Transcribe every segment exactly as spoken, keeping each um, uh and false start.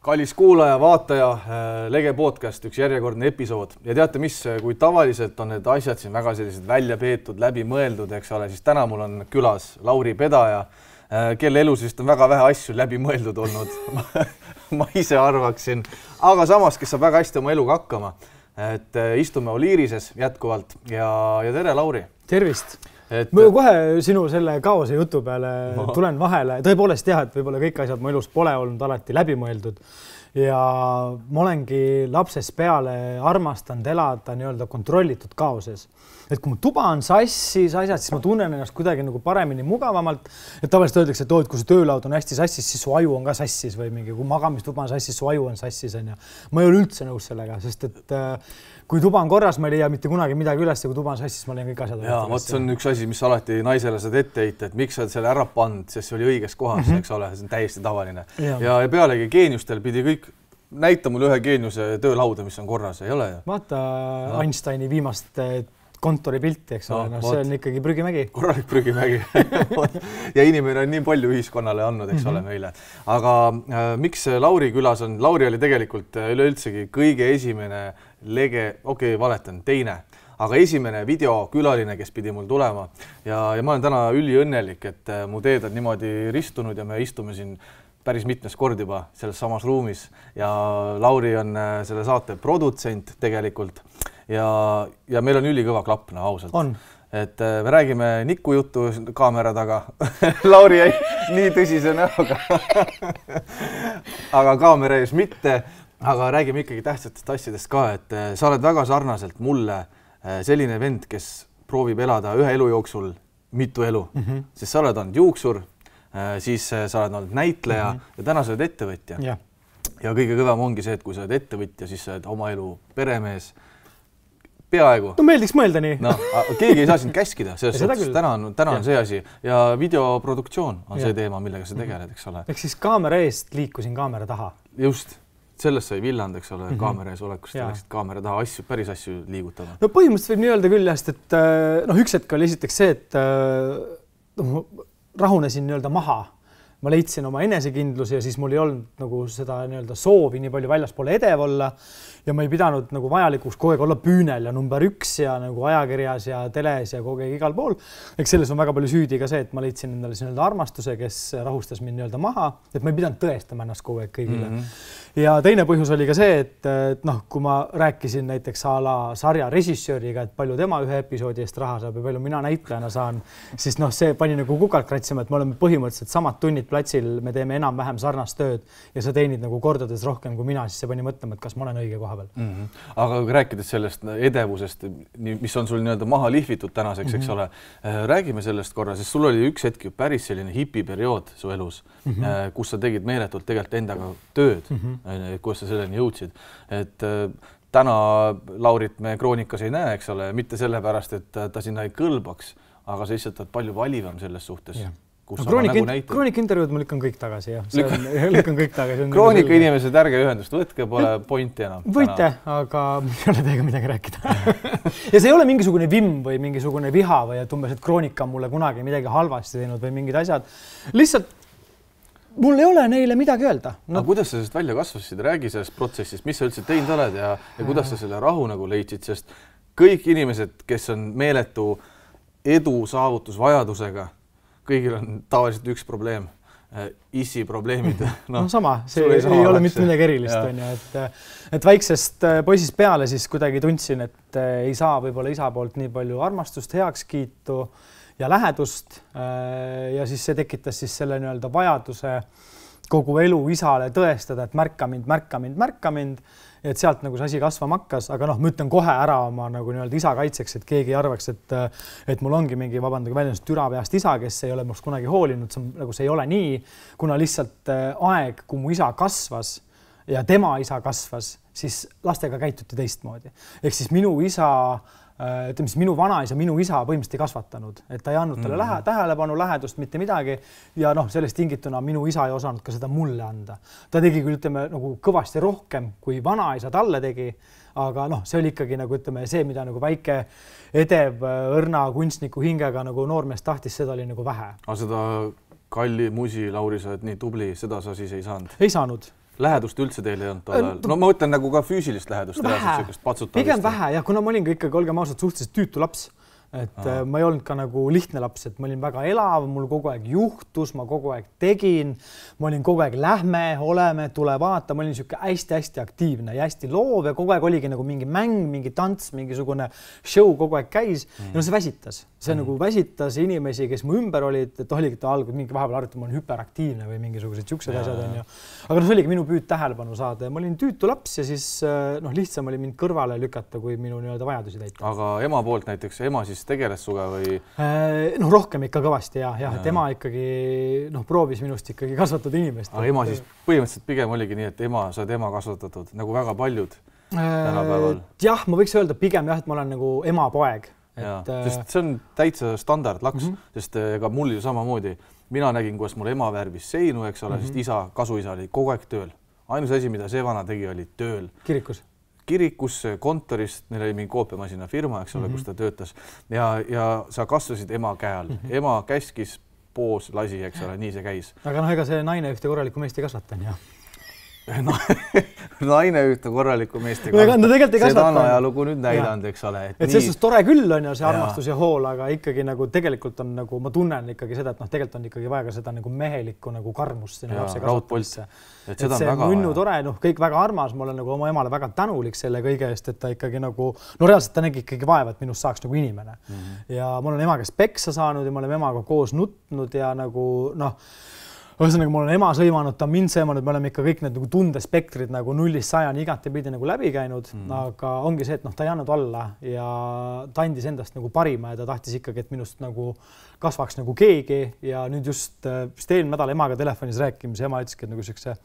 Kallis kuulaja, vaataja, Lege podcast, üks järjekordne episood. Ja teate mis, kui tavaliselt on need asjad siin väga sellised välja peetud, läbi mõeldud, eks ole, siis täna mul on külas Lauri Pedaja, kelle elus vist on väga vähe asju läbi mõeldud olnud. Ma ise arvaksin, aga samas, kes saab väga hästi oma eluga hakkama. Et istume Oliirises jätkuvalt ja, ja tere, Lauri. Tervist. Et... Ma kohe sinu selle kaose jutu peale no. tulen vahele. Tõepoolest jah, et võib-olla kõik asjad mu elus pole olnud alati läbi mõeldud. Ja ma olengi lapsest peale armastanud elada nii-öelda kontrollitud kaoses. Et kui mu tuba on sassis asjad, siis ma tunnen ennast kuidagi nagu paremini mugavamalt. Et tavaliselt öeldakse, et, et kui su töölaud on hästi sassis, siis su aju on ka sassis või mingi, kui magamistuba on sassis, su aju on sassis. On ja. Ma ei ole üldse nõus sellega, sest et kui tuba on korras, ma ei leia mitte kunagi midagi üles ja kui tuba on sassis, ma leian kõik asjad. Jaa, võt, see on üks asi, mis alati naisele saad ette heita, et miks sa oled selle ära pannud, sest see oli õiges kohas, mm -hmm. eks ole, see on täiesti tavaline. Ja, ja pealegi geeniustel pidi kõik näita mulle ühe geeniuse töölauda, mis on korras, ei ole ju? Vaata no. Einsteini viimast kontoripilti, eks ole, no, no, see on ikkagi prügimägi. Korralik prügimägi. Ja inimene on nii palju ühiskonnale andnud, eks mm -hmm. ole meile. Aga äh, miks Lauri külas on? Lauri oli tegelikult üleüldsegi kõige esimene Lege, okei, okay, valetan, teine, aga esimene videokülaline, kes pidi mul tulema. Ja, ja ma olen täna üliõnnelik, et mu teed on niimoodi ristunud ja me istume siin päris mitmes kord juba selles samas ruumis. Ja Lauri on selle saate produtsent tegelikult. Ja, ja meil on ülikõva klapp, no ausalt. On. Et me räägime Niku juttu kaamera taga. Lauri jäi nii tõsise näoga. Aga kaamera ees mitte. Aga räägime ikkagi tähtsatest asjadest ka, et sa oled väga sarnaselt mulle selline vend, kes proovib elada ühe elu jooksul mitu elu. Mm -hmm. Sest sa oled olnud juuksur, siis sa oled olnud näitleja mm -hmm. ja täna sa oled ettevõtja. Ja. ja kõige kõvem ongi see, et kui sa oled ettevõtja, siis sa oled oma elu peremees. Peaaegu. No meeldiks mõelda nii. No, keegi ei saa sind käskida, selles suhtes täna on, täna on see asi. Ja videoproduktsioon on ja. see teema, millega sa tegeled, eks ole. Ehk siis kaamera eest liikusin kaamera taha. Just. Sellest sai villand, eks ole, mm -hmm. kaamera ees olekust ja läksid kaamera taha asju, päris asju liigutama. No põhimõtteliselt võib nii öelda küll jäst, et noh, üks hetk oli esiteks see, et no, rahunesin nii-öelda maha. Ma leidsin oma enesekindluse ja siis mul ei olnud nagu seda nii-öelda soovi nii palju väljaspoole edev olla ja ma ei pidanud nagu vajalikuks kogu aeg olla püünel ja number üks ja nagu ajakirjas ja teles ja kogu aeg igal pool. Eks selles on väga palju süüdi ka see, et ma leidsin endale nii-öelda armastuse, kes rahustas mind nii-öelda maha, et ma ei pidanud tõestama ennast kogu aeg kõigile. Mm -hmm. Ja teine põhjus oli ka see, et, et noh, kui ma rääkisin näiteks a la sarja režissööriga, et palju tema ühe episoodi eest raha saab ja palju mina näitlejana saan, siis noh, see pani nagu kukalt kratsima, et me oleme põhimõtteliselt samad tunnid platsil, me teeme enam-vähem sarnast tööd ja sa teenid nagu kordades rohkem kui mina, siis see pani mõtlema, et kas ma olen õige koha peal. Mm -hmm. Aga kui rääkides sellest edevusest, mis on sul nii-öelda maha lihvitud tänaseks, mm -hmm. eks ole, räägime sellest korra, sest sul oli üks hetk ju päris selline hipiperiood su elus, mm -hmm. kus sa tegid meeletult tegelikult endaga tööd, mm -hmm. kus sa selleni jõudsid. Et täna Laurit me kroonikas ei näe, eks ole, mitte sellepärast, et ta sinna ei kõlbaks, aga sa lihtsalt oled palju valivam selles suhtes. Yeah. No, kroonika, nagu kroonika intervjuud ma lükkan kõik tagasi, jah. See on, lükkan kõik tagasi. Kroonika inimesed ärge ühendust võtke, pole pointi enam. Võite, aga ei ole teiega midagi rääkida. Ja see ei ole mingisugune vimm või mingisugune viha või et umbes, et kroonika on mulle kunagi midagi halvasti teinud või mingid asjad. Lihtsalt mul ei ole neile midagi öelda. No. Aga kuidas sa sellest välja kasvasid? Räägi sellest protsessist, mis sa üldse teinud oled ja, ja kuidas sa selle rahu nagu leidsid, sest kõik inimesed, kes on meeletu edu saavutusvajadusega, kõigil on tavaliselt üks probleem, issi probleemid. No, no sama, see ei, ei ole mitte midagi erilist. On ju, et, et väiksest poisist peale siis kuidagi tundsin, et ei saa võib-olla isa poolt nii palju armastust, heakskiitu ja lähedust ja siis see tekitas siis selle nii-öelda vajaduse kogu elu isale tõestada, et märka mind, märka mind, märka mind. Et sealt nagu see asi kasvama hakkas, aga noh, ma ütlen kohe ära oma nagu nii-öelda isa kaitseks, et keegi arvaks, et, et mul ongi mingi vabandage väljendust türapeast isa, kes ei ole must kunagi hoolinud, see, on, nagu see ei ole nii, kuna lihtsalt aeg, kui mu isa kasvas ja tema isa kasvas, siis lastega käituti teistmoodi. Ehk siis minu isa ütleme siis minu vanaisa, minu isa põhimõtteliselt ei kasvatanud, et ta ei andnud talle lähe, tähelepanu, lähedust, mitte midagi ja noh, sellest tingituna minu isa ei osanud ka seda mulle anda. Ta tegi küll, ütleme, nagu kõvasti rohkem, kui vanaisa talle tegi, aga noh, see oli ikkagi nagu, ütleme, see, mida nagu väike edev õrna kunstniku hingega nagu noormees tahtis, seda oli nagu vähe. Aga seda Kalli musi, Lauri, sa oled nii tubli, seda sa siis ei saanud? Ei saanud. Lähedust üldse teil ei olnud tol ajal? No ma ütlen nagu ka füüsilist lähedust. Pigem vähe ja kuna ma olin ka ikkagi, olgem ausalt, suhteliselt tüütu laps, et Aha. ma ei olnud ka nagu lihtne laps, et ma olin väga elav, mul kogu aeg juhtus, ma kogu aeg tegin, ma olin kogu aeg lähme, oleme, tule vaata, ma olin siuke hästi-hästi aktiivne ja hästi loov ja kogu aeg oligi nagu mingi mäng, mingi tants, mingisugune show kogu aeg käis mm. ja no see väsitas. See mm. nagu väsitas inimesi, kes mu ümber olid, et oligi ta algul mingi vahepeal arvati, ma olen hüperaktiivne või mingisugused siuksed asjad on ju. Aga no see oligi minu püüd tähelepanu saada ja ma olin tüütu laps ja siis noh, lihtsam oli mind kõrvale lükata, kui minu nii-öelda vajadusi täita. Aga ema poolt näiteks, ema siis tegeles suga või? Noh, rohkem ikka kõvasti ja, ja, et ema ikkagi noh, proovis minust ikkagi kasvatada inimest. Aga ema siis põhimõtteliselt pigem oligi nii, et ema, sa oled ema kasvatatud nagu väga paljud tänapäeval. Jah, ma võiks öelda pigem jah, et ma olen nagu ema poeg. Et, sest see on täitsa standard laks, mm -hmm. sest ega mul ju samamoodi. Mina nägin, kuidas mul ema värvis seinu, eks ole, mm -hmm. sest isa, kasuisa oli kogu aeg tööl. Ainus asi, mida see vana tegi, oli tööl. Kirikus? Kirikus, kontorist, neil oli mingi koopiamasina firma, eks ole, mm -hmm. kus ta töötas. Ja, ja sa kasvasid ema käe all. Mm -hmm. Ema käskis, poos, lasi, eks ole, nii see käis. Aga noh, ega see naine ühte korralikku meest ei kasvatan, jah. No, naine ühte korralikku meest ei kasvata. No, seda on ajalugu nüüd näidanud, eks ole. Et, et nii... see tore küll on ju see armastus ja, ja hool, aga ikkagi nagu tegelikult on nagu, ma tunnen ikkagi seda, et noh, tegelikult on ikkagi vaja ka seda nagu mehelikku nagu karmust sinna lapse kasvatamisse. Et seda et on väga munnu tore, noh, kõik väga armas, ma olen nagu oma emale väga tänulik selle kõige eest, et ta ikkagi nagu, no reaalselt ta nägi ikkagi vaeva, et minust saaks nagu inimene. Mm -hmm. Ja ma olen ema käest peksa saanud ja ma olen emaga koos nutnud ja nagu noh, ühesõnaga, ma olen ema sõimanud, ta on mind sõimanud, me oleme ikka kõik need nagu tundespektrid nagu nullist sajani igatepidi nagu läbi käinud, mm. aga ongi see, et noh, ta ei andnud alla ja ta andis endast nagu parima ja ta tahtis ikkagi, et minust nagu kasvaks nagu keegi ja nüüd just, just eelmine nädal emaga telefonis rääkimis, ema ütleski, et nagu siukse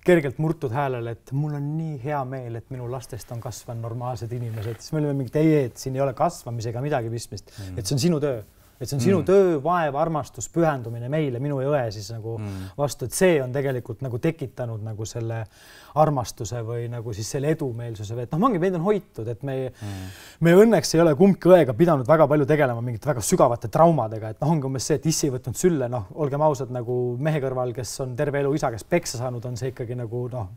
kergelt murtud häälele, et mul on nii hea meel, et minu lastest on kasvanud normaalsed inimesed, siis me olime mingi teie, et siin ei ole kasvamisega midagi pistmist, mm. et see on sinu töö. Et see on sinu mm. töö, vaev, armastus, pühendumine meile, minu ja õe siis nagu mm. vastu, et see on tegelikult nagu tekitanud nagu selle armastuse või nagu siis selle edumeelsuse või et noh, mangi meid on hoitud, et me, mm. me õnneks ei ole kumbki õega pidanud väga palju tegelema mingite väga sügavate traumadega, et noh, ongi umbes see, et issi võtnud sülle, noh, olgem ausad nagu mehe kõrval, kes on terve elu isa, kes peksa saanud, on see ikkagi nagu noh,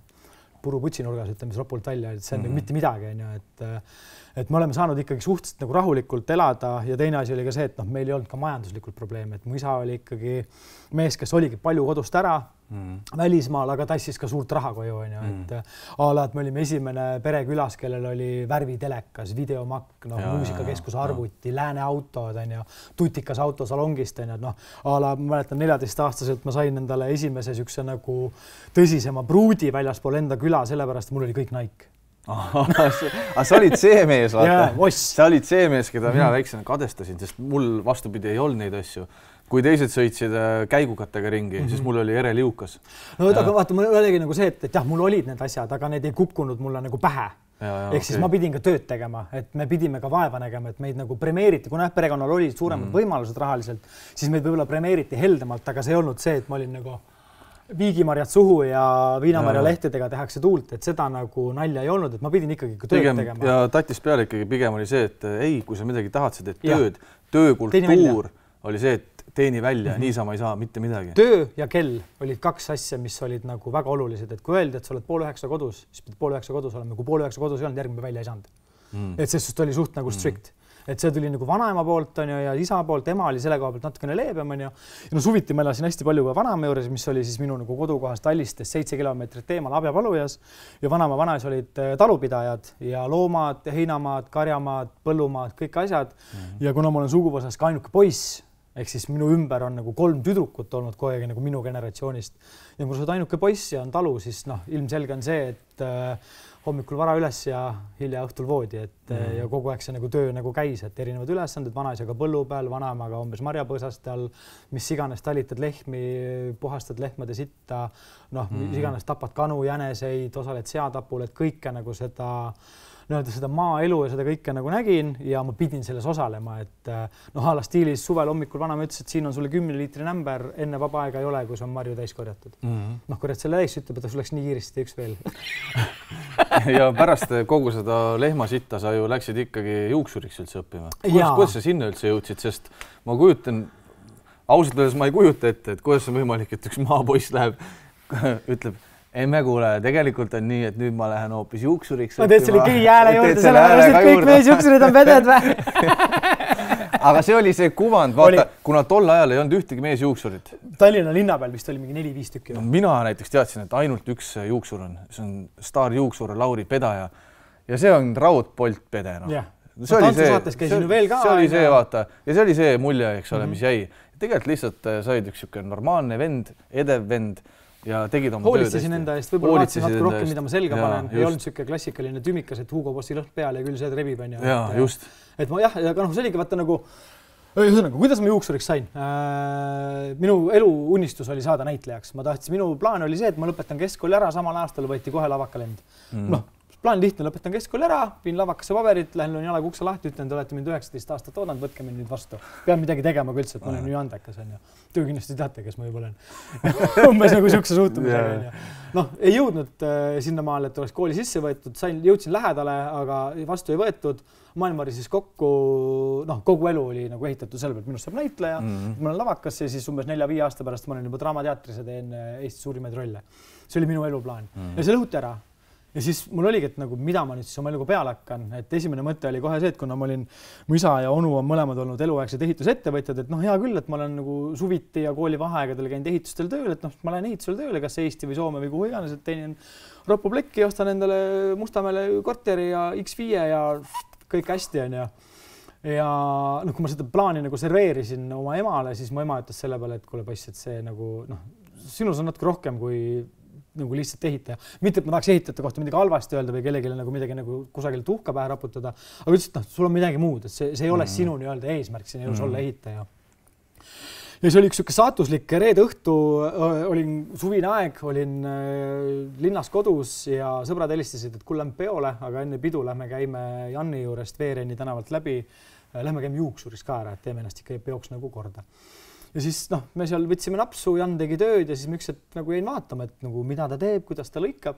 puru putsinurgas, ütleme siis ropult välja, et see on mm. nagu mitte midagi, on ju, et et me oleme saanud ikkagi suhteliselt nagu rahulikult elada ja teine asi oli ka see, et noh, meil ei olnud ka majanduslikult probleeme, et mu isa oli ikkagi mees, kes oligi palju kodust ära mm. välismaal, aga tassis ka suurt raha koju, on ju, et mm. ala, et me olime esimene pere külas, kellel oli värvitelekas, videomakk, noh, muusikakeskuse arvuti, lääne autod, on ju, tutikas auto salongist, on ju, et noh, ala, ma mäletan neljateistaastaselt ma sain endale esimese siukse nagu tõsisema pruudi väljaspool enda küla, sellepärast mul oli kõik Nike. Aga sa olid see mees, vaata. Yeah, sa olid see mees, keda mina väiksena kadestasin, sest mul vastupidi ei olnud neid asju. Kui teised sõitsid käigukattega ringi, mm -hmm. siis mul oli ere liukas. No aga vaata, mul oligi nagu see, et, et jah, mul olid need asjad, aga need ei kukkunud mulle nagu pähe. Ehk okay. siis ma pidin ka tööd tegema, et me pidime ka vaeva nägema, et meid nagu premeeriti, kuna perekonnal olid suuremad mm -hmm. võimalused rahaliselt, siis meid võib-olla premeeriti heldemalt, aga see ei olnud see, et ma olin nagu viigimarjad suhu ja viinamarja lehtedega tehakse tuult, et seda nagu nalja ei olnud, et ma pidin ikkagi tööd pigem, tegema. Ja tatis peale ikkagi pigem oli see, et ei, kui sa midagi tahad, sa teed tööd, töökultuur oli see, et teeni välja, mm -hmm. niisama ei saa mitte midagi. Töö ja kell olid kaks asja, mis olid nagu väga olulised, et kui öeldi, et sa oled pool üheksa kodus, siis pidid pool üheksa kodus olema, kui pool üheksa kodus ei olnud, järgmine välja ei saanud. Mm. Et sest oli suht nagu strict. Mm. Et see tuli nagu vanaema poolt on ju ja isa poolt, ema oli selle koha pealt natukene leebem on ju. Ja no suviti ma elasin hästi palju ka vanaema juures, mis oli siis minu nagu kodukohast Tallistest seitse kilomeetrit eemal Abjapalujas ja vanaema vanaisa olid talupidajad ja loomad, heinamaad, karjamaad, põllumaad, kõik asjad. Mm. Ja kuna ma olen suguvõsas ka ainuke poiss, ehk siis minu ümber on nagu kolm tüdrukut olnud kogu aeg nagu minu generatsioonist ja kui sa oled ainuke poiss ja on talu, siis noh, ilmselge on see, et äh, hommikul vara üles ja hilja õhtul voodi, et mm. ja kogu aeg see nagu töö nagu käis, et erinevad ülesanded vanaisaga põllu peal, vanaemaga umbes marjapõõsaste all, mis iganes talitad lehmi, puhastad lehmade sitta, noh, mm. mis iganes tapad kanu, jäneseid, osaled seatapul, et kõike nagu seda nii-öelda seda maaelu ja seda kõike nagu nägin ja ma pidin selles osalema, et noh, ala stiilis suvel hommikul vanaema ütles, et siin on sulle kümne liitri nämber, enne vaba aega ei ole, kui see on marju täis korjatud. Mm -hmm. Noh, korjad selle täis, ütleb, et sul läks nii kiiresti üks veel. Ja pärast kogu seda lehmasitta sa ju läksid ikkagi juuksuriks üldse õppima. Kuidas sa sinna üldse jõudsid, sest ma kujutan, ausalt öeldes ma ei kujuta ette, et kuidas on võimalik, et üks maapoiss läheb, ütleb, emme kuule, tegelikult on nii, et nüüd ma lähen hoopis juuksuriks. Ma teed selle kõigi hääle juurde, sellepärast, et kõik mees juuksurid on veded või? Aga see oli see kuvand, vaata, oli... kuna tol ajal ei olnud ühtegi mees juuksurit. Tallinna linna peal vist oli mingi neli viis tükki. No, mina näiteks teadsin, et ainult üks juuksur on. See on staar juuksur Lauri Pedaja ja see on raudpolt pede. No. Yeah. See oli see, see, veel ka, see oli see, vaata, ja see oli see mulje, eks ole, mis jäi. Tegelikult lihtsalt said üks siuke normaalne vend, edev vend ja tegid oma hoolitsesin enda eest, võib-olla vaatasin natuke rohkem, mida ma selga ja, panen. Ei olnud siuke klassikaline tümikas, et Hugo Bossi lõhn peal ja küll see rebib on. Ja, et, just. Et ma jah, aga noh, see oligi vaata nagu, ühesõnaga, kuidas ma juuksuriks sain? Minu elu unistus oli saada näitlejaks. Ma tahtsin, minu plaan oli see, et ma lõpetan keskkooli ära, samal aastal võeti kohe lavakalend. Mm. Noh, plaan lihtne, lõpetan keskkooli ära, viin lavakasse paberit, lähen löön jalaga ukse lahti, ütlen, te olete mind üheksateist aastat oodanud, võtke mind nüüd vastu. Pean midagi tegema ka üldse, et ma olen nii andekas. Töö kindlasti teate, kes ma juba olen. Umbes nagu siukse suhtumisega. Noh, ei jõudnud sinna maale, et oleks kooli sisse võetud, sain, jõudsin lähedale, aga vastu ei võetud. Maailm oli siis kokku, noh, kogu elu oli nagu ehitatud selle pealt, minust saab näitleja. Mm-hmm. Ma olen lavakas ja siis umbes nelja-viie aasta pärast ma olen juba Draamateatris ja teen Eesti suurimaid rolle. See oli minu eluplaan. Mm-hmm. Ja see lõhuti ära. Ja siis mul oligi, et nagu, mida ma nüüd siis oma eluga peale hakkan, et esimene mõte oli kohe see, et kuna ma olin, mu isa ja onu on mõlemad olnud eluaegsed ehitusettevõtjad, et noh, hea küll, et ma olen nagu suviti ja kooli vaheaegadel käinud ehitustel tööl, et noh, ma lähen ehitusel tööle, kas Eesti või Soome või kuhu iganes, et teenin Roppu plekki, ostan endale Mustamäele korteri ja X viie ja kõik hästi on ja ja noh, kui ma seda plaani nagu serveerisin oma emale, siis mu ema ütles selle peale, et kuule poiss, et see nagu noh, sinus on natuke rohkem kui nagu lihtsalt ehitaja. Mitte, et ma tahaks ehitajate kohta midagi halvasti öelda või kellelegi nagu midagi nagu kusagil tuhka pähe raputada, aga ütles, et noh, sul on midagi muud, et see, see ei ole mm. sinu nii-öelda eesmärk siin elus mm. olla ehitaja. Ja see oli üks siuke saatuslik reede õhtu, olin suvine aeg, olin linnas kodus ja sõbrad helistasid, et kuule lähme peole, aga enne pidu lähme käime Janni juurest Veereni tänavalt läbi, lähme käime juuksuris ka ära, et teeme ennast ikka peoks nagu korda. Ja siis noh, me seal võtsime napsu, Jan tegi tööd ja siis ma üks, et nagu jäin vaatama, et nagu mida ta teeb, kuidas ta lõikab.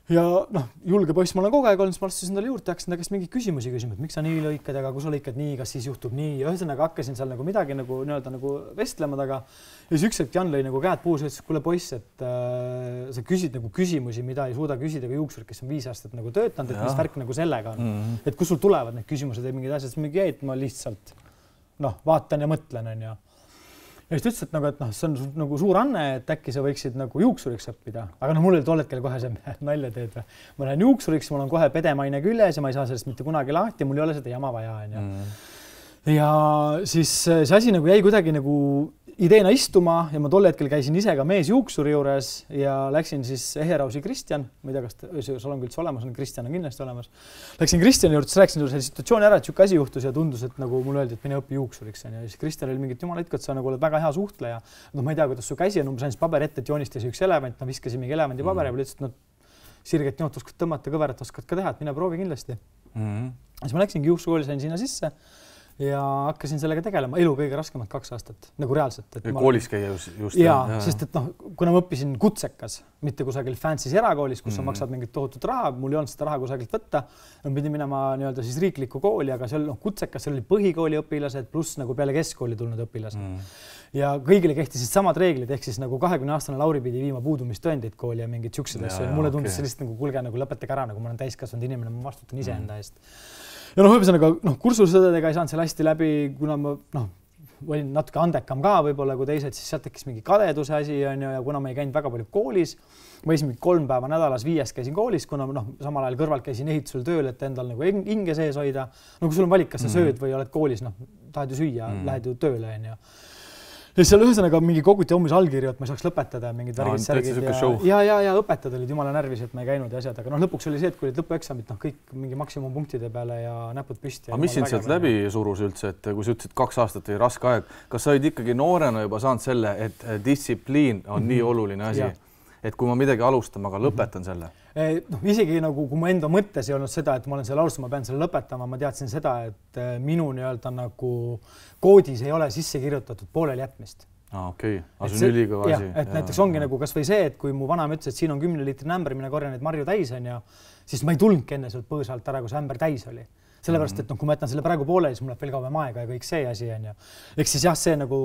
Ja noh, julge poiss ma olen kogu aeg olnud, siis ma astusin talle juurde, hakkasin ta käest mingi küsimusi küsima, et miks sa nii lõikad, aga kui sa lõikad nii, kas siis juhtub nii. Ja ühesõnaga hakkasin seal nagu midagi nagu nii-öelda nagu vestlema taga. Ja siis üks hetk Jan lõi nagu käed puus ja ütles, kuule poiss, et äh, sa küsid nagu küsimusi, mida ei suuda küsida ka juuksur, kes on viis aastat nagu töötanud, et mis värk nagu sellega on. Mm-hmm. Et kus sul tulevad need küsimused ja mingid asjad, siis mingi jäi, et ma lihtsalt noh, vaatan ja mõtlen on ja Ja siis ütles, et, nagu, et noh, see on nagu suur anne, et äkki sa võiksid nagu juuksuriks õppida. Aga noh, mul oli tol hetkel kohe see nalja teed. Ma lähen juuksuriks, mul on kohe pedemaine küljes ja ma ei saa sellest mitte kunagi lahti, mul ei ole seda jama vaja. Ja, mm. ja siis see asi nagu jäi kuidagi nagu ideena istuma ja ma tol hetkel käisin ise ka mees juuksuri juures ja läksin siis Eherausi Kristjan, ma ei tea, kas sul on üldse olemas, on Kristjan on kindlasti olemas. Läksin Kristjani juurde, rääkisin selle situatsiooni ära, et siuke asi juhtus ja tundus, et nagu mul öeldi, et mine õpi juuksuriks. Ja siis Kristjan oli mingit jumala itkot, sa nagu oled väga hea suhtleja. No ma ei tea, kuidas su käsi on, umbes andis paber ette, et joonistasi üks elevant, ma viskasin mingi elevandi paberi ja lihtsalt no, sirget joont oskad tõmmata, kõverat oskad ka teha, et mine proovi kindlasti. Mm-hmm. Siis ma läksingi juuksukooli, sain sinna sisse. Ja hakkasin sellega tegelema elu kõige raskemad kaks aastat, nagu reaalselt. Et koolis käia just. just jaa, ja. Sest et noh, kuna ma õppisin kutsekas, mitte kusagil fancy's erakoolis, kus mm. sa maksad mingit tohutut raha, mul ei olnud seda raha kusagilt võtta, ma pidin minema nii-öelda siis riiklikku kooli, aga seal noh, kutsekas, seal oli põhikooli õpilased pluss nagu peale keskkooli tulnud õpilased. Mm. Ja kõigile kehtisid samad reeglid, ehk siis nagu kahekümne aastane Lauri pidi viima puudumistõendid kooli ja mingid siuksed asju. Mulle tundus okay. Sellist nagu kulge nagu lõpetage ära, nagu ma olen täiskasvanud inimene, ma vastutan ise mm. enda eest. Ja noh, ühesõnaga, noh, kursusõdedega ei saanud seal hästi läbi, kuna ma noh, olin natuke andekam ka võib-olla kui teised, siis sealt tekkis mingi kadeduse asi on ju, ja kuna ma ei käinud väga palju koolis, ma esimene kolm päeva nädalas viiest käisin koolis, kuna noh, samal ajal kõrvalt käisin ehitusel tööl, et endal nagu hinge sees hoida. No kui sul on valik, kas sa sööd või oled koolis, noh, tahad ju süüa, mm. lähed ju tööle on ju. Ja seal ühesõnaga mingi koguti hommis allkirju, et ma saaks lõpetada mingid värgid särgid ja, ja, ja, ja õpetajad olid jumala närvis, et ma ei käinud ja asjad, aga noh, lõpuks oli see, et kui olid lõpueksamid, noh, kõik mingi maksimumpunktide peale ja näpud püsti. Aga mis sind sealt läbi surus üldse, et kui sa ütlesid kaks aastat või raske aeg, kas sa olid ikkagi noorena juba saanud selle, et distsipliin on mm-hmm. nii oluline asi, ja. Et kui ma midagi alustan, aga lõpetan selle? No, isegi nagu, kui mu enda mõttes ei olnud seda, et ma olen selle alustama, ma pean selle lõpetama, ma teadsin seda, et minu nii-öelda nagu koodis ei ole sisse kirjutatud poolel jätmist. Ah, okei, okay. Aga see on ülikõva asi. Et ja, näiteks ongi ja. Nagu kas või see, et kui mu vanaema ütles, et siin on kümne liitri ämber, mine korja neid marju täis on ja siis ma ei tulnudki enne sealt põõsalt ära, kui see ämber täis oli. sellepärast, et noh, kui ma jätan selle praegu pooleli, siis mul läheb veel kauem aega ja kõik see asi on ju. Eks siis jah, see nagu,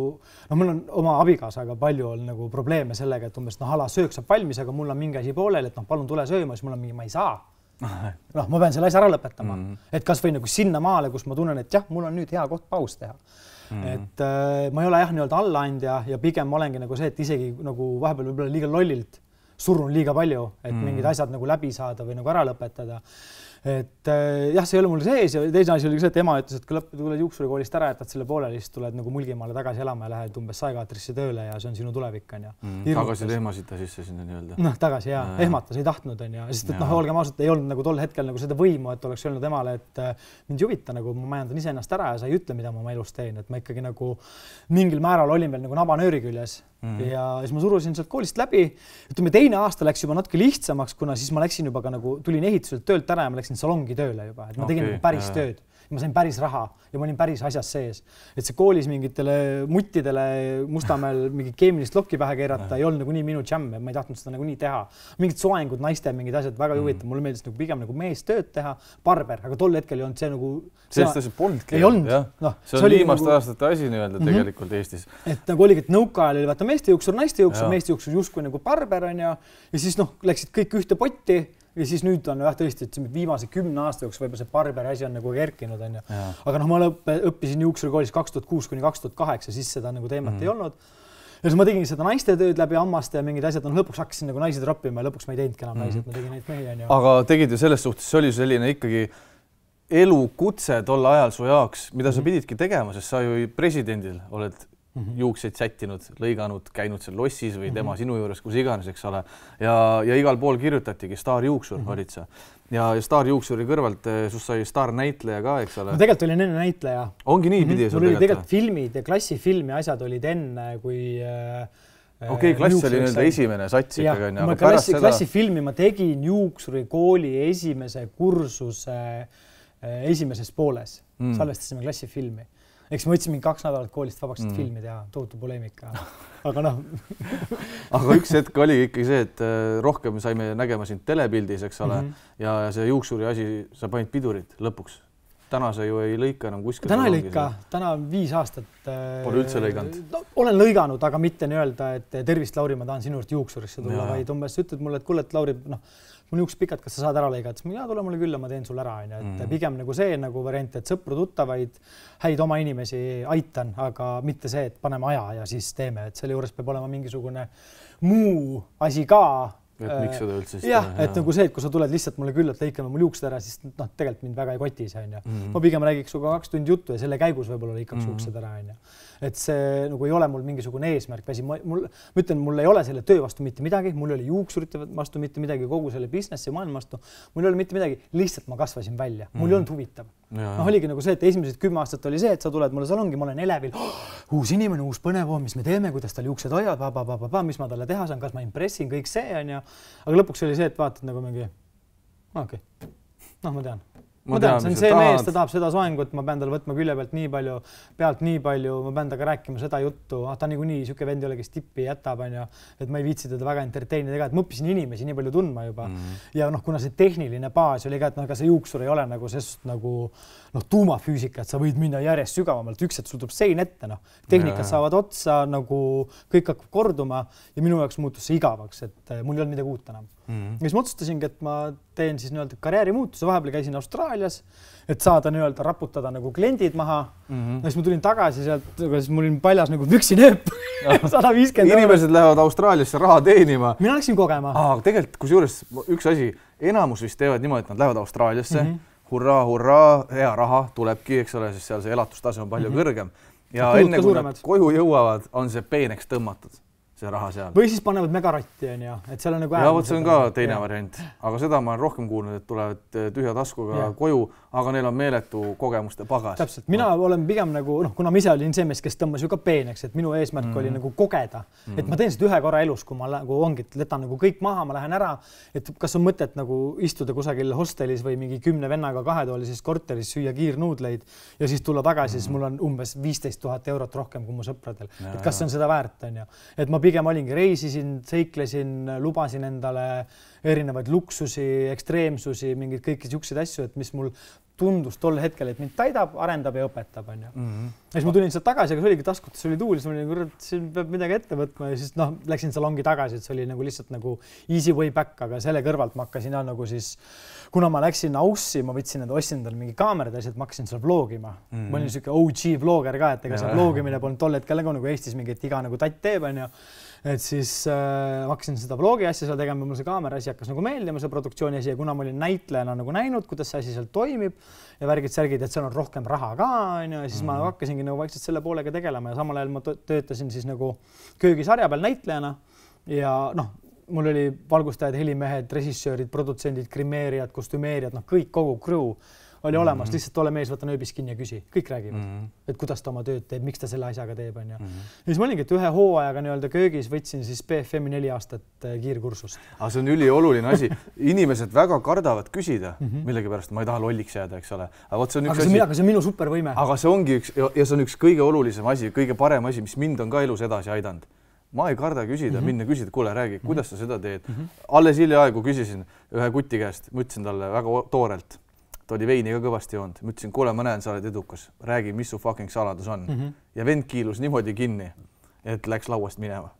no mul on oma abikaasaga palju on nagu probleeme sellega, et umbes noh, ala söök saab valmis, aga mul on mingi asi pooleli, et noh, palun tule sööma, siis mul on mingi, ma ei saa. Noh, ma pean selle asja ära lõpetama. Mm. Et kas või nagu sinna maale, kus ma tunnen, et jah, mul on nüüd hea koht paus teha. Mm. Et äh, ma ei ole jah nii-öelda allaandja ja pigem ma olengi nagu see, et isegi nagu vahepeal võib-olla liiga lollilt surun liiga palju, et mm. mingid asjad nagu läbi saada või nagu ära lõpetada. Et äh, jah, see ei ole mul sees ja teine asi oli see, et ema ütles, et kui tuled juuksurikoolist ära, jätad selle pooleli, siis tuled nagu Mulgimaale tagasi elama ja lähed umbes saekaatrisse tööle ja see on sinu tulevik on ja. Mm. Tagasi ehmasid ta sisse sinna nii-öelda. Noh, tagasi jah, ja. Ehmatas ei tahtnud on ja, sest et noh, olgem ausalt, ei olnud nagu tol hetkel nagu seda võimu, et oleks öelnud emale, et mind ei huvita nagu ma majandan ise ennast ära ja sa ei ütle, mida ma oma elus teen, et ma ikkagi nagu mingil määral olin veel nagu nabanööri küljes. Mm. Ja siis ma surusin sealt koolist läbi. Ütleme, teine aasta läks juba natuke lihtsamaks, kuna siis ma läksin juba ka nagu, tulin ehituselt töölt ära ja ma läksin salongi tööle juba, et ma tegin okay, nagu päris jah. Tööd. Ma sain päris raha ja ma olin päris asjas sees. Et see koolis mingitele muttidele Mustamäel mingi keemilist lokki pähe keerata ei olnud nagu nii minu džämm, ma ei tahtnud seda nagu nii teha. Mingid soengud, naiste, mingid asjad väga mm. huvitav. Mulle meeldis nagu pigem nagu mees tööd teha, barber, aga tol hetkel ei olnud see nagu... Sellest asi polnudki. Ei olnud. No, see on viimaste nagu... aastate asi nii-öelda mm -hmm. tegelikult Eestis. Et nagu oligi, et nõuka ajal oli vaata meeste juuksur, naiste juuksur, meeste juuksur justkui nagu barber on ja, ja siis noh, läksid kõik ühte potti. Ja siis nüüd on jah tõesti, et viimase kümne aasta jooksul võib-olla see barberi asi on nagu kerkinud on ja. Aga noh, ma õppisin juuksurikoolis kaks tuhat kuus kuni kaks tuhat kaheksa, siis seda nagu teemat mm. ei olnud. Ja siis ma tegin seda naiste tööd läbi hammaste ja mingid asjad on lõpuks hakkasin nagu naised roppima ja lõpuks ma ei teinudki enam mm. naised, ma tegin neid mehi on ja. Aga tegid ju selles suhtes, see oli selline ikkagi elukutse tol ajal su jaoks, mida sa pididki tegema, sest sa ju presidendil oled Mm -hmm. juukseid sättinud, lõiganud, käinud seal lossis või tema mm -hmm. sinu juures, kus iganes, eks ole. Ja, ja igal pool kirjutatigi staarjuuksur mm -hmm. olid sa. Ja, ja staarjuuksuri kõrvalt sus sai staarnäitleja ka, eks ole. Ma tegelikult olin enne näitleja. Ongi nii pidi? Mm -hmm. Mul oli tegelikult filmid ja klassifilmi asjad olid enne, kui... Okei, okay, klass oli nii-öelda esimene sats ikkagi. Ja, ma klassi, seda... klassifilmi ma tegin juuksurikooli esimese kursuse esimeses pooles. Mm. Salvestasime klassifilmi. Eks ma võtsin mingi kaks nädalat koolist vabaks, et mm. filmi teha, tohutu poleemika. Aga noh. Aga üks hetk oli ikkagi see, et rohkem saime nägema sind telepildis, eks ole, mm -hmm. ja see juuksuri asi, sa panid pidurit lõpuks. Täna sa ju ei lõika enam kuskil. Täna ei lõika, täna on viis aastat. Pole üldse lõiganud? No, olen lõiganud, aga mitte nii-öelda, et tervist, Lauri, ma tahan sinu juurde juuksurisse tulla, vaid umbes ütled mulle, et kuule, et Lauri, noh, mul juuksed pikad, kas sa saad ära lõigata? Siis ma, jaa, tule mulle külla, ma teen sul ära. Et mm. pigem nagu see nagu variant, et sõpru tuttavaid, häid oma inimesi aitan, aga mitte see, et paneme aja ja siis teeme. Et selle juures peab olema mingisugune muu asi ka. Et miks seda üldse siis jah, et nagu see, et kui sa tuled lihtsalt mulle külla, et lõikame mul juuksed ära, siis noh, tegelikult mind väga ei koti see on ja. Mm. Ma pigem räägiks suga kaks tundi juttu ja selle käigus võib-olla lõikaks mm. juuksed ära on ja. Et see nagu ei ole mul mingisugune eesmärk. Mul, ma ütlen, mul ei ole selle töö vastu mitte midagi, mul oli juuksurite vastu mitte midagi, kogu selle businessi maailma vastu. Mul ei ole mitte midagi, lihtsalt ma kasvasin välja. Mul mm. ei olnud huvitav. No, oligi nagu see, et esimesed kümme aastat oli see, et sa tuled mulle salongi, ma olen elevil, oh, uus inimene, uus põnev, mis me teeme, kuidas tal juuksed hoiavad, ba, ba, ba, ba, mis ma talle teha saan, kas ma impressin, kõik see on ja. Aga lõpuks oli see, et vaatad nagu mingi, okei, okay. noh, ma tean. Ma tean, see on see mees, ta tahab seda soengut, ma pean talle võtma külje pealt nii palju, pealt nii palju, ma pean taga rääkima seda juttu, ah, ta niikuinii niisugune vend ei ole, kes tippi jätab, on ja, et ma ei viitsi teda väga entertainida ega, et ma õppisin inimesi nii palju tundma juba. Mm -hmm. Ja noh, kuna see tehniline baas oli ka, et noh, aga see juuksur ei ole nagu sest nagu noh, tuumafüüsika, et sa võid minna järjest sügavamalt, üks, et sul tuleb sein ette, noh, tehnikad saavad otsa, nagu kõik hakkab korduma ja minu jaoks muutus see igavaks, et mul ei olnud midagi uut enam. Mm -hmm. Ja siis ma otsustasingi, et ma teen siis nii-öelda karjäärimuutuse, vahepeal käisin Austraalias, et saada nii-öelda raputada nagu kliendid maha. Mm -hmm. Ja siis ma tulin tagasi sealt, siis mul oli paljas nagu püksinööp sada viiskümmend inimesed lähevad Austraaliasse raha teenima. Mina läksin kogema. Aa, tegelikult kusjuures üks asi, enamus vist teevad niimoodi, et nad lähevad Austraaliasse, mm -hmm. hurraa, hurraa, hea raha tulebki, eks ole, siis seal see elatustase on palju mm -hmm. kõrgem. Ja Kulud enne kui suuremad. Nad koju jõuavad, on see peeneks tõmmatud. See raha seal. Või siis panevad megaratti, on ju, et seal on nagu ja vot see on ka teine ja. variant, aga seda ma olen rohkem kuulnud, et tulevad tühja taskuga ja. koju, aga neil on meeletu kogemuste pagas. Täpselt, mina no. olen pigem nagu, noh, kuna ma ise olin see mees, kes tõmbas ju ka peeneks, et minu eesmärk mm. oli nagu kogeda, mm. et ma teen seda ühe korra elus, kui ma nagu ongi, et letan nagu kõik maha, ma lähen ära, et kas on mõtet nagu istuda kusagil hostelis või mingi kümne vennaga kahetoalises korteris, süüa kiirnuudleid ja siis tulla tagasi, mm. siis mul on umbes viisteist tuhat eurot rohkem kui mu sõpradel. Ja, et kas see on seda väärt, on ju. Et ma pigem olingi, reisisin, seiklesin, lubasin endale erinevaid luksusi, ekstreemsusi, mingeid kõiki siukseid asju, et mis mul tundus tol hetkel, et mind täidab, arendab ja õpetab, on ju. Mm -hmm. Ja siis ma tulin sealt tagasi, aga see oligi taskutes, oli tuul, siis ma olin, kurat, siin peab midagi ette võtma ja siis noh, läksin salongi tagasi, et see oli nagu lihtsalt nagu easy way back, aga selle kõrvalt ma hakkasin nagu siis, kuna ma läksin Aussi, ma võtsin enda, ostsin endale mingi kaamerad ja siis ma hakkasin seal vlogima. Mm -hmm. Ma olin siuke O G vlogger ka, et ega see vlogimine polnud tol hetkel nagu, nagu Eestis mingi, et iga nagu tatt teeb, on ju. Et siis äh, hakkasin seda vlogi asja seal tegema, mul see kaamera asi hakkas nagu meeldima, see produktsiooni asi ja kuna ma olin näitlejana nagu näinud, kuidas see asi seal toimib ja värgid särgid, et seal on rohkem raha ka, on ju, ja siis mm -hmm. ma hakkasingi nagu vaikselt selle poolega tegelema ja samal ajal ma töötasin siis nagu köögisarja peal näitlejana ja noh, mul oli valgustajad, helimehed, režissöörid, produtsendid, grimeerijad, kostümeerijad, noh, kõik kogu crew oli olemas, mm -hmm. lihtsalt ole mees, võta nööbis kinni ja küsi, kõik räägivad, mm -hmm. et kuidas ta oma tööd teeb, miks ta selle asjaga teeb, on ju. Mm -hmm. ja siis ma olingi, et ühe hooajaga nii-öelda köögis võtsin siis B F M-i neli aastat kiirkursust. Aga see on ülioluline asi. Inimesed väga kardavad küsida, mm -hmm. millegipärast ma ei taha lolliks jääda, eks ole. Aga vot see on üks aga asi. Aga see on minu supervõime. Aga see ongi üks, ja see on üks kõige olulisem asi, kõige parem asi, mis mind on ka elus edasi aidanud. Ma ei karda küsida, mm -hmm. minna küsida, kuule, räägi, kuidas sa seda teed. Mm -hmm. Alles hiljaaegu küsisin ühe kuti käest, ma ütlesin talle väga toorelt, ta oli veini ka kõvasti joonud. Ma ütlesin, kuule, ma näen, sa oled edukas, räägi, mis su fucking saladus on. Mm -hmm. Ja vend kiilus niimoodi kinni, et läks lauast minema.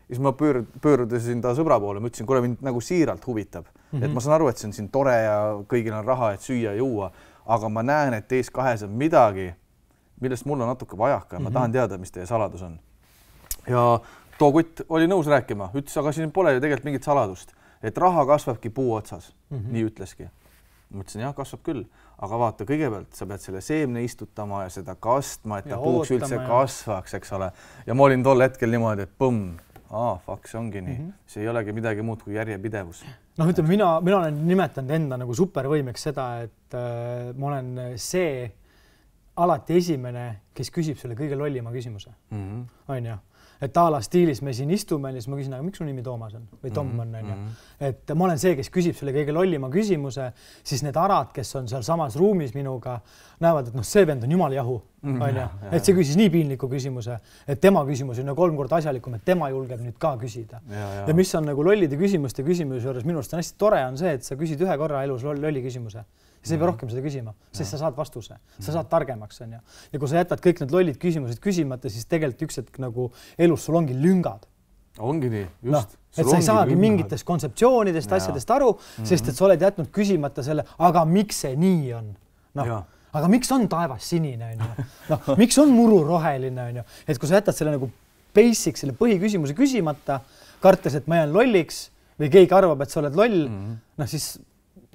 Siis ma pöör, pöörudasin ta sõbra poole, ma ütlesin, kuule, mind nagu siiralt huvitab. Mm -hmm. Et ma saan aru, et see on siin tore ja kõigil on raha, et süüa ja juua, aga ma näen, et teis kahes on midagi, millest mul on natuke vajaka ja mm -hmm. ma tahan teada, mis teie saladus on. Ja too kutt oli nõus rääkima, ütles, aga siin pole ju tegelikult mingit saladust, et raha kasvabki puu otsas, mm -hmm. nii ütleski. Ma ütlesin, jah, kasvab küll, aga vaata, kõigepealt sa pead selle seemne istutama ja seda kastma, et ta puuks üldse ja kasvaks, eks ole. Ja ma olin tol hetkel niimoodi, et põmm, aa, fuck, see ongi nii. Mm -hmm. See ei olegi midagi muud kui järjepidevus. Noh, ütleme, mina, mina olen nimetanud enda nagu supervõimeks seda, et äh, ma olen see alati esimene, kes küsib selle kõige lollima küsimuse. Mm -hmm. On ju? Et a la stiilis me siin istume ja siis ma küsin, aga miks su nimi Toomas on või Tom on, on ju. Et ma olen see, kes küsib selle kõige lollima küsimuse, siis need arad, kes on seal samas ruumis minuga, näevad, et noh, see vend on jumala jahu, on ju. Et see küsis nii piinliku küsimuse, et tema küsimus on kolm korda asjalikum, et tema julgeb nüüd ka küsida. Ja, ja. ja mis on nagu lollide küsimuste küsimuse juures minu arust on hästi tore on see, et sa küsid ühe korra elus lolli küsimuse. Sa ei pea rohkem seda küsima, sest sa saad vastuse, sa saad targemaks, on ju. Ja kui sa jätad kõik need lollid küsimused küsimata, siis tegelikult üks hetk nagu elus sul ongi lüngad. Ongi nii, just. No, et sa ei saagi mingitest kontseptsioonidest, ja. asjadest aru, mm-hmm. sest et sa oled jätnud küsimata selle, aga miks see nii on? Noh, aga miks on taevas sinine, on ju? Noh, miks on muru roheline, on ju? Et kui sa jätad selle nagu basic, selle põhiküsimuse küsimata, kartes, et ma jään lolliks või keegi arvab, et sa oled loll, mm-hmm. noh siis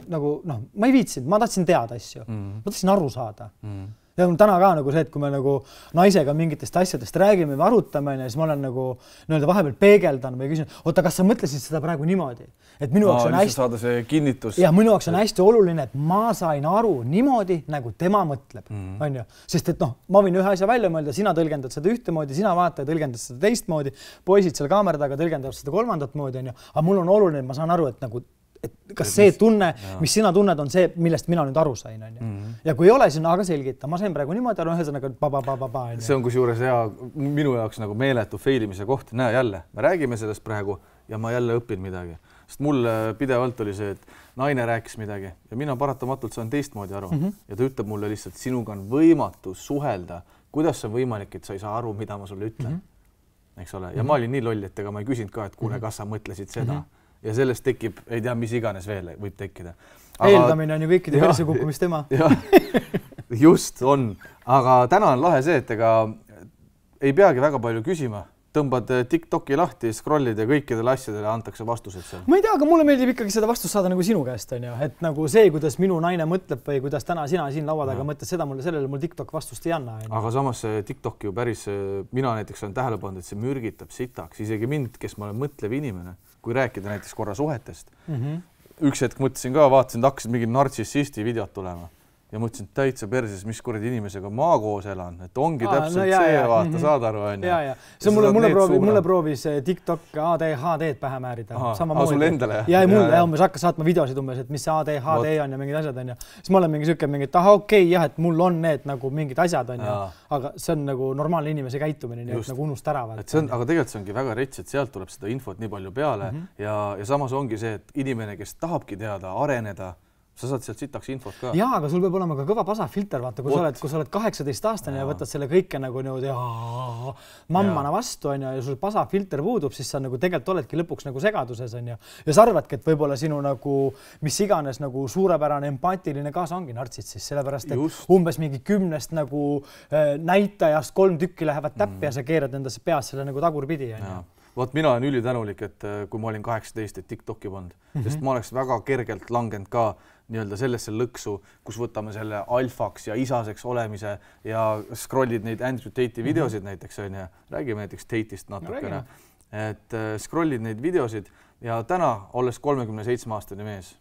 nagu noh, ma ei viitsinud, ma tahtsin teada asju, mm. ma tahtsin aru saada. Mm. Ja täna ka nagu see, et kui me nagu naisega mingitest asjadest räägime või arutame, siis ma olen nagu nii-öelda vahepeal peegeldan või küsin, oota, kas sa mõtlesid seda praegu niimoodi? Et minu jaoks on hästi saada see kinnitus. Ja minu jaoks on hästi oluline, et ma sain aru niimoodi, nagu tema mõtleb, mm. on ju. Sest et noh, ma võin ühe asja välja mõelda, sina tõlgendad seda ühtemoodi, sina vaata ja tõlgendad seda teistmoodi, poisid seal kaamera taga tõlgendavad seda kolmandat moodi, on ju. Aga mul on oluline, et ma saan aru, et nagu et kas see tunne, mis sina tunned, on see, millest mina nüüd aru sain, on ju. Mm -hmm. Ja kui ei ole, siis on aga selgita. Ma sain praegu niimoodi aru, ühesõnaga ba-ba-ba-ba-ba. See on kusjuures hea, minu jaoks nagu meeletu failimise koht. Näe jälle, me räägime sellest praegu ja ma jälle õpin midagi. Sest mul pidevalt oli see, et naine rääkis midagi ja mina paratamatult saan teistmoodi aru. Mm -hmm. Ja ta ütleb mulle lihtsalt, sinuga on võimatu suhelda. Kuidas see on võimalik, et sa ei saa aru, mida ma sulle ütlen? Mm -hmm. Eks ole? Ja mm -hmm. ma olin nii loll, et ega ma ei küsinud ka, et kuule, kas sa mõtlesid seda? Mm -hmm. Ja sellest tekib, ei tea, mis iganes veel võib tekkida. Aga... Eeldamine on ju kõikide perse kukkumist tema. Just on, aga täna on lahe see, et ega ei peagi väga palju küsima. Tõmbad TikToki lahti, scrollid ja kõikidele asjadele antakse vastused seal. Ma ei tea, aga mulle meeldib ikkagi seda vastust saada nagu sinu käest, on ju. Et nagu see, kuidas minu naine mõtleb või kuidas täna sina siin laua taga mõtled, seda mulle, sellele mul TikTok vastust ei anna. Aga samas see TikTok ju päris, mina näiteks olen tähele pannud, et see mürgitab sitaks. Isegi mind, kes ma olen mõtlev inimene, kui rääkida näiteks korra suhetest. Mm -hmm. Üks hetk mõtlesin ka, vaatasin, et hakkasid mingi nartsissisti videot tulema. Ja mõtlesin, et täitsa perses, mis kuradi inimesega ma koos elan, et ongi Aa, täpselt no, jah, see, jah. vaata, mm -hmm. saad aru, on ju. Ja, ja. See mulle, mulle, proovi, mulle proovis TikTok A D H D-d pähe määrida. Aha, sul endale? Ja, ja mulle ja, umbes hakkas saatma videosid umbes, et mis see A D H D on ja mingid asjad on ju. Siis ma olen mingi süke mingi, et aha, okei, okay, jah, et mul on need nagu mingid asjad on ju, aga see on nagu normaalne inimese käitumine, nii et nagu unust ära. Et see on, aga tegelikult see ongi väga rets, et sealt tuleb seda infot nii palju peale mm -hmm. ja, ja samas ongi see, et inimene, kes tahabki teada, areneda, sa saad sealt sitaks infot ka. Jaa, aga sul peab olema ka kõva pasafilter, vaata, kui sa oled, kui sa oled kaheksateist aastane ja võtad selle kõike nagu niimoodi mammana vastu on ja, ja sul pasafilter puudub, siis sa nagu tegelikult oledki lõpuks nagu segaduses on ja, ja sa arvadki, et võib-olla sinu nagu, mis iganes nagu suurepärane empaatiline kaasa ongi nartsid siis, sellepärast, et Just. umbes mingi kümnest nagu äh, näitajast kolm tükki lähevad täppi mm. ja sa keerad endasse peas selle nagu tagurpidi on ja. Vot mina olen ülitänulik, et kui ma olin kaheksateist, et TikToki polnud, mm -hmm. sest ma oleks väga kergelt langenud ka nii-öelda sellesse lõksu, kus võtame selle alfaks ja isaseks olemise ja scrollid neid Andrew Tate'i videosid mm -hmm. näiteks on ja räägime näiteks Tate'ist natukene, et äh, scrollid neid videosid ja täna, olles kolmekümne seitsme aastane mees,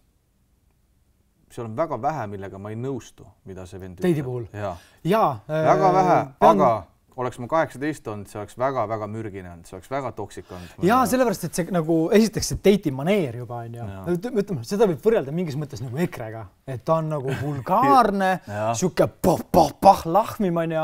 seal on väga vähe, millega ma ei nõustu, mida see vend Tate'i puhul? Jaa, ja, väga äh, vähe, pean... aga oleks ma kaheksateist olnud, see oleks väga-väga mürgine olnud, see oleks väga toksik olnud. Jaa, sellepärast, et see nagu esiteks see Tate'i maneer juba on ju. Ütleme, seda võib võrrelda mingis mõttes nagu ekrega, et ta on nagu vulgaarne, siuke pah-pah-pah lahmim on ju.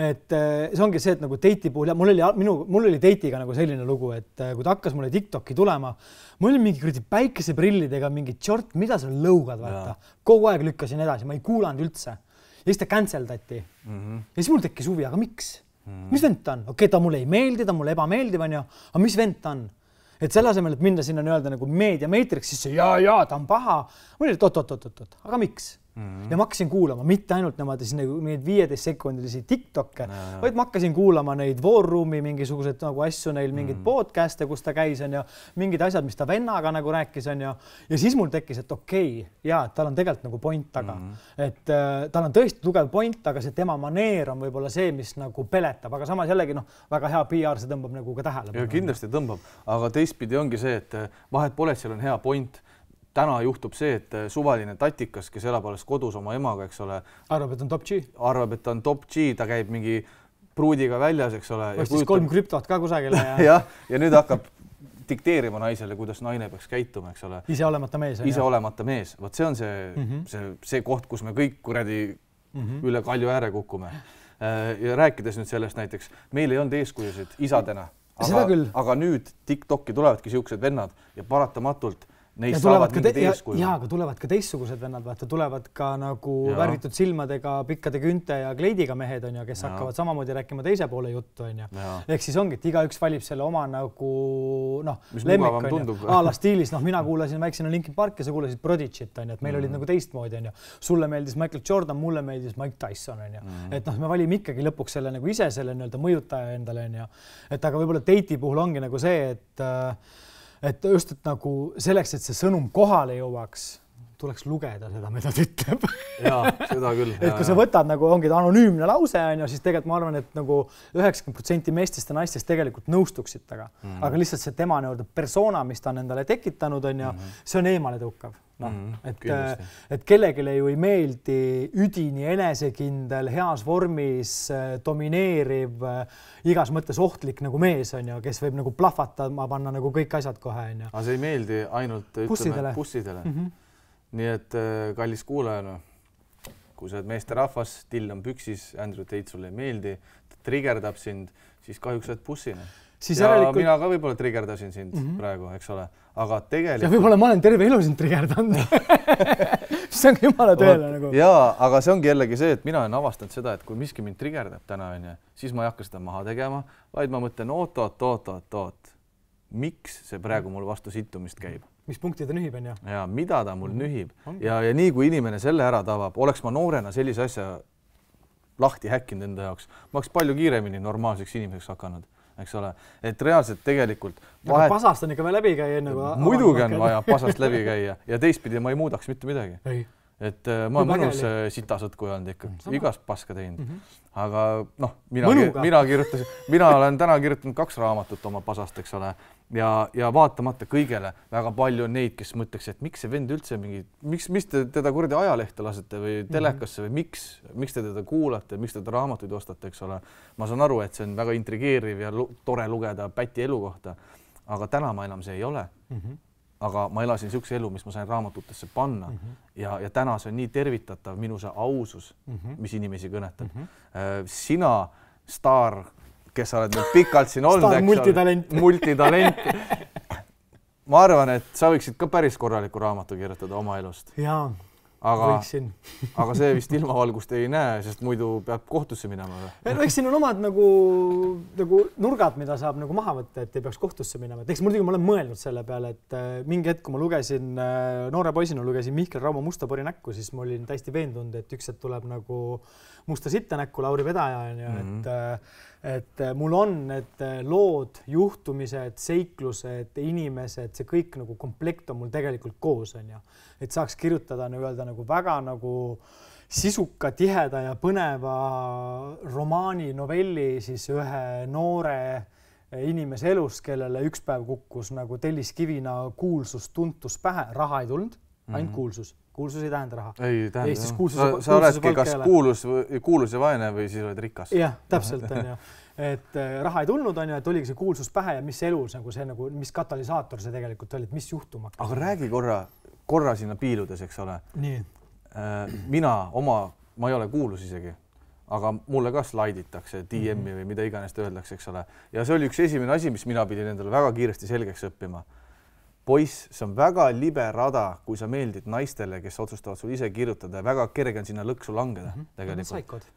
Et see ongi see, et nagu Tate'i puhul, ja mul oli, minu, mul oli Tate'iga nagu selline lugu, et kui ta hakkas mulle TikToki tulema, mul oli mingi kuradi päikeseprillidega mingi tšort, mida sa lõugad, vaata. Kogu aeg lükkasin edasi, ma ei kuulanud üldse. Ja siis ta canceldati. Mm -hmm. Ja siis mul tekkis huvi, aga miks? Hmm. Mis vend ta on? Okei, okay, ta mulle ei meeldi, ta mulle ebameeldiv on ju, aga mis vend ta on? Et selle asemel, et minna sinna nii-öelda nagu meedia meetriks, siis jaa, jaa, ta on paha. Mul oli tot-tot-tot-tot, aga miks? Mm-hmm. Ja ma hakkasin kuulama, mitte ainult nemad neid viieteist sekundilisi TikTokke, no, vaid ma hakkasin kuulama neid War Roomi mingisugused nagu asju neil, mingid mm-hmm. podcast'e, kus ta käis on ja mingid asjad, mis ta vennaga nagu rääkis on ja, ja siis mul tekkis, et okei, okay, jaa, tal on tegelikult nagu point taga. Mm-hmm. Et äh, tal on tõesti tugev point, aga see tema maneer on võib-olla see, mis nagu peletab, aga samas jällegi noh, väga hea P R, see tõmbab nagu ka tähele. Ja kindlasti tõmbab, aga teistpidi ongi see, et vahet pole, et seal on hea point. Täna juhtub see, et suvaline tatikas, kes elab alles kodus oma emaga, eks ole. Arvab, et on top G. Arvab, et on top G, ta käib mingi pruudiga väljas, eks ole. Ostis kujutab... kolm krüptot ka kusagile. Ja... ja, ja nüüd hakkab dikteerima naisele, kuidas naine peaks käituma, eks ole. Ise olemata mees. Ise olemata mees. Vot see on see, mm -hmm. see, see koht, kus me kõik kuradi mm -hmm. üle kalju ääre kukume. Ja rääkides nüüd sellest näiteks, meil ei olnud eeskujusid isadena. Aga, aga nüüd TikTok'i tulevadki siuksed vennad ja paratamatult neist saavad mingid eeskuju. Jaa, aga tulevad ka teistsugused vennad, vaata, tulevad ka nagu ja. Värvitud silmadega, pikkade künte ja kleidiga mehed on ja, kes ja. Hakkavad samamoodi rääkima teise poole juttu on ja. Ja. Ehk siis ongi, et igaüks valib selle oma nagu noh, lemmik on ja. Aala stiilis, noh, mina kuulasin väiksena Linkin Park ja sa kuulasid Prodigit on ja, et meil mm. olid nagu teistmoodi on ja. Sulle meeldis Michael Jordan, mulle meeldis Mike Tyson on ja. Mm. Et noh, me valime ikkagi lõpuks selle nagu ise selle nii-öelda mõjutaja endale on ja. Et aga võib-olla Tate'i puhul ongi nagu see, et et just, et nagu selleks, et see sõnum kohale jõuaks, tuleks lugeda seda, mida ta ütleb. Jaa, seda küll. Et kui sa võtad nagu ongi anonüümne lause, on ju, siis tegelikult ma arvan, et nagu üheksakümmend protsenti meestest ja naistest tegelikult nõustuksid taga. Mm. Aga lihtsalt see tema nii-öelda persona, mis ta on endale tekitanud, on ju, mm. see on eemale tõukav. No, mm, et, et kellegile ju ei meeldi üdini enesekindel, heas vormis, domineeriv, igas mõttes ohtlik nagu mees on ju, kes võib nagu plahvatama panna nagu kõik asjad kohe on ju. Aga see ei meeldi ainult bussidele. bussidele. Mm -hmm. Nii et kallis kuulajana, kui sa oled meeste rahvas, till on püksis, Andrew Tate sulle ei meeldi, ta trigerdab sind, siis kahjuks oled bussina. Siis ja järelikult... mina ka võib-olla trigerdasin sind mm -hmm. praegu, eks ole, aga tegelikult... Ja võib-olla ma olen terve elu sind trigerdanud. See on jumala tõele nagu. Jaa, aga see ongi jällegi see, et mina olen avastanud seda, et kui miski mind trigerdab täna, on ja, siis ma ei hakka seda maha tegema, vaid ma mõtlen, oot, oot, oot, oot, oot. Miks see praegu mul vastu sittumist käib? Mis punkti ta nühib, on ja? Ja mida ta mul mm -hmm. nühib. Ja, ja nii kui inimene selle ära tavab, oleks ma noorena sellise asja lahti häkkinud enda jaoks, ma oleks palju kiiremini normaalseks inimeseks hakanud. Eks ole, et reaalselt tegelikult vahet... pasast on ikka veel läbi käia enne kui muidugi on vaja pasast läbi käia ja teistpidi ma ei muudaks mitte midagi. Ei. Et ma olen mõnus sitasõtku olnud ikka, mm, igast paska teinud. Mm -hmm. Aga noh, mina, mina kirjutasin, mina olen täna kirjutanud kaks raamatut oma pasast, eks ole, ja, ja vaatamata kõigele väga palju on neid, kes mõtleks, et miks see vend üldse mingi, miks, miks te teda kuradi ajalehte lasete või telekasse või miks, miks te teda kuulate, miks te teda raamatuid ostate, eks ole. Ma saan aru, et see on väga intrigeeriv ja tore lugeda Päti elu kohta, aga täna ma enam see ei ole. Mm -hmm. Aga ma elasin niisuguse elu, mis ma sain raamatutesse panna mm -hmm. ja, ja täna see on nii tervitatav minu see ausus, mm -hmm. mis inimesi kõnetab. Mm -hmm. Sina, staar, kes sa oled nüüd pikalt siin olnud, staar, multitalent. multitalent. Ma arvan, et sa võiksid ka päris korraliku raamatu kirjutada oma elust. Jaa. aga, võiksin. aga see vist ilmavalgust ei näe, sest muidu peab kohtusse minema. No eks siin on omad nagu, nagu nurgad, mida saab nagu maha võtta, et ei peaks kohtusse minema. Eks muidugi ma olen mõelnud selle peale, et mingi hetk, kui ma lugesin, noore poisina lugesin Mihkel Rauma Musta pori näkku, siis ma olin täiesti veendunud, et üks hetk tuleb nagu Musta sitta näkku Lauri Vedaja, ja mm-hmm. et, et mul on need lood, juhtumised, seiklused, inimesed, see kõik nagu komplekt on mul tegelikult koos, on ju. Et saaks kirjutada öelda nagu väga nagu sisuka, tiheda ja põneva romaani, novelli siis ühe noore inimese elust, kellele üks päev kukkus nagu telliskivina kuulsus, tuntus pähe, raha ei tulnud, ainult mm-hmm. kuulsus. Kuulsus ei tähenda raha. Ei tähenda. Eestis kuulsus, sa, sa oledki kas kuulus, kuulus ja vaene või siis oled rikas. Jah, täpselt on ju. Et raha ei tulnud, on ju, et oligi see kuulsus pähe ja mis elus, nagu see, nagu, mis katalüsaator see tegelikult oli, et mis juhtuma. Aga räägi korra, korra sinna piiludes, eks ole. Nii. Mina oma, ma ei ole kuulus isegi, aga mulle ka slaiditakse D M-i või mida iganes öeldakse, eks ole. Ja see oli üks esimene asi, mis mina pidin endale väga kiiresti selgeks õppima. Poiss, see on väga libe rada, kui sa meeldid naistele, kes otsustavad sul ise kirjutada ja väga kerge on sinna lõksu langeda. Mm -hmm. tegelikult. Saikod.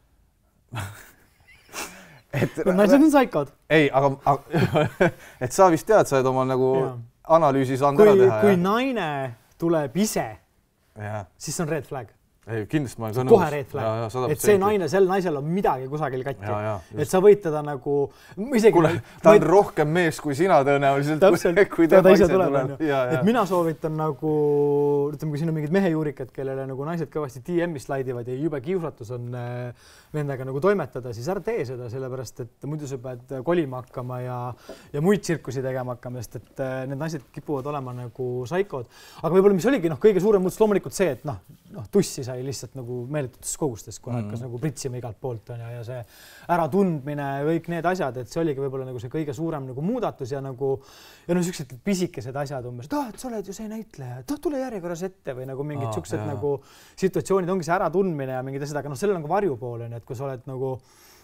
et, naised on saikod. Ei, aga, aga et sa vist tead, sa oled oma nagu ja. Analüüsi saanud kui, ära teha. Kui ja? naine tuleb ise, ja. siis on red flag. Ei, kindlasti ma olen kohe red flag, et see naine, sel naisel on midagi kusagil katki. Ja, ja, et sa võid teda nagu... Isegi, Kule, ta on võid... rohkem mees kui sina tõenäoliselt. Täpselt, kui ta, ta ise tuleb. tuleb. Ja, ja. Et mina soovitan nagu, ütleme, kui siin on mingid mehejuurikad, kellele nagu naised kõvasti D M-i slaidivad ja jube kiusatus on nendega nagu toimetada, siis ära tee seda, sellepärast, et muidu sa pead kolima hakkama ja, ja muid tsirkusi tegema hakkama, sest et need naised kipuvad olema nagu saikod. Aga võib-olla, mis oligi noh, kõige suurem muutus loomulikult see, et noh, noh, tussi sai lihtsalt nagu meeletutes kogustes, kui hakkas mm. nagu pritsima igalt poolt on ja, ja see äratundmine ja kõik need asjad, et see oligi võib-olla nagu see kõige suurem nagu muudatus ja nagu ja no sellised pisikesed asjad umbes, et ah, et sa oled ju see näitleja, et ah, tule järjekorras ette või nagu mingid ah, siuksed nagu situatsioonid ongi see äratundmine ja mingid asjad, aga noh, sellel on ka varjupool on, et kui sa oled nagu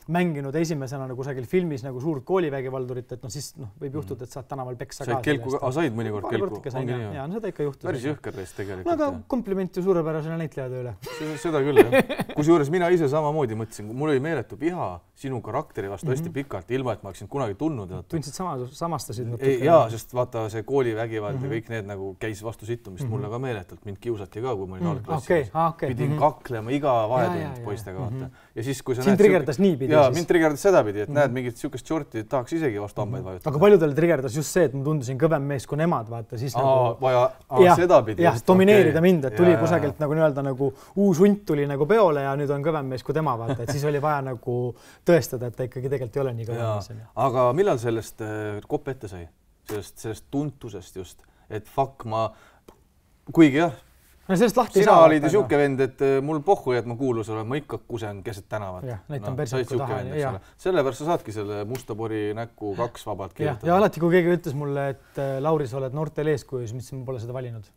mänginud esimesena nagu kusagil filmis nagu suurt koolivägivaldurit, et noh, siis noh, võib juhtuda, et saad tänaval peksa ka. Kelku, a, said mõnikord kelku? Ja, no seda ikka juhtus. Päris jõhker reist tegelikult. No aga kompliment ju suurepärasele näitleja tööle. Seda küll, jah. Kusjuures mina ise samamoodi mõtlesin, mul oli meeletu piha sinu karakteri vastu hästi pikalt, ilma et ma oleksin kunagi tundnud. Tundsid sama, samastasid? Jaa, sest vaata see koolivägivald ja kõik need nagu käis vastu sittumist mulle ka meeletult. Mind kiusati ka, kui ma olin algklassis. Pidin kaklema iga vahetund poistega vaata. Ja siis, kui sa sind trigerdas niipidi. Ja, mind trigerdas sedapidi, et mm. näed mingit siukest shorti, tahaks isegi vastu hambaid vajutada. Aga paljudel trigerdas just see, et ma tundusin kõvem mees kui nemad, vaata, siis aa, nagu... Vaja, aa, sedapidi. Jah, domineerida okay. mind, et tuli ja, kusagilt nagu nii-öelda nagu uus hunt tuli nagu peole ja nüüd on kõvem mees kui tema, vaata, et siis oli vaja nagu tõestada, et ta ikkagi tegelikult ei ole nii kõvem mees. Aga millal sellest kopp ette sai? Sellest, sellest tuntusest just, et fuck ma, kuigi jah, no sellest lahti sina olid ju siuke vend, et mul pohhu, et ma kuulus olen, ma ikka kusen keset tänavat. Jah, näitan no, persiku taha. Vend, sellepärast sa saadki selle Musta pori näkku kaks vabalt kirjutada. Ja, ja alati, kui keegi ütles mulle, et Lauri, sa oled noortel eeskujus, mis ma pole seda valinud.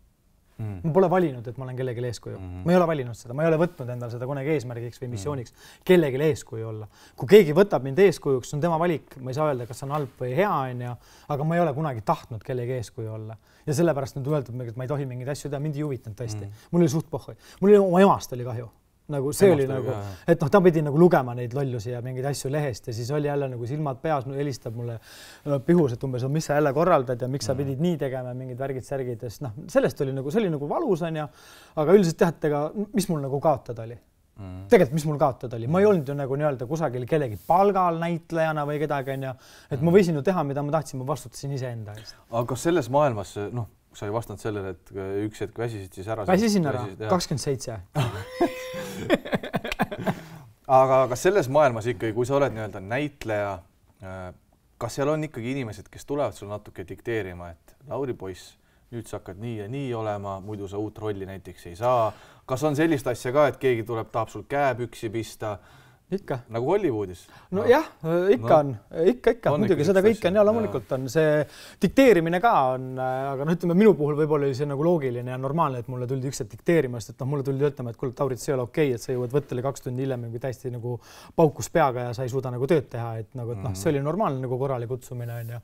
Mm. Ma pole valinud, et ma olen kellegi eeskuju. Mm. Ma ei ole valinud seda, ma ei ole võtnud endale seda kunagi eesmärgiks või missiooniks mm. kellegi eeskuju olla. Kui keegi võtab mind eeskujuks, on tema valik, ma ei saa öelda, kas on halb või hea on ja, aga ma ei ole kunagi tahtnud kellegi eeskuju olla. Ja sellepärast nüüd öeldud, et ma ei tohi mingeid asju teha, mind ei huvitanud tõesti. Mm. Mul oli suht pohhui. Mul oli oma emast oli kahju. Nagu see emast oli nagu, ka, et noh, ta pidi nagu lugema neid lollusi ja mingeid asju lehest ja siis oli jälle nagu silmad peas, helistab mulle pihus, et umbes, mis sa jälle korraldad ja miks sa pidid nii tegema mingid värgid, särgid, sest noh, sellest oli nagu, see oli nagu valus on ja, aga üldiselt teate ka, mis mul nagu kaotada oli. Mm. Tegelikult, mis mul kaotada oli, ma ei olnud ju nagu nii-öelda kusagil kellegi palgal näitlejana või kedagi on ja, et ma võisin ju teha, mida ma tahtsin, ma vastutasin ise enda eest. Aga kas selles maailmas, noh, sa ei vastanud sellele, et üks hetk väsisid siis ära? Väsisin ära, kakskümmend seitse. Aga kas selles maailmas ikkagi, kui sa oled nii-öelda näitleja, kas seal on ikkagi inimesed, kes tulevad sul natuke dikteerima, et Lauri poiss, nüüd sa hakkad nii ja nii olema, muidu sa uut rolli näiteks ei saa. Kas on sellist asja ka, et keegi tuleb, tahab sul käepüksi pista? Ikka. Nagu Hollywoodis? No, no jah, ikka no. on, ikka, ikka, on muidugi seda kõike on ja loomulikult on see dikteerimine ka on, aga no ütleme, minu puhul võib-olla oli see nagu loogiline ja normaalne, et mulle tuldi ükselt dikteerimast, et noh, mulle tuldi ütlema, et kuule, Taurit, see ei ole okei, et sa jõuad võttele kaks tundi hiljem kui täiesti nagu paukus peaga ja sa ei suuda nagu tööd teha, et nagu, et noh, see oli normaalne nagu korrali kutsumine on ja,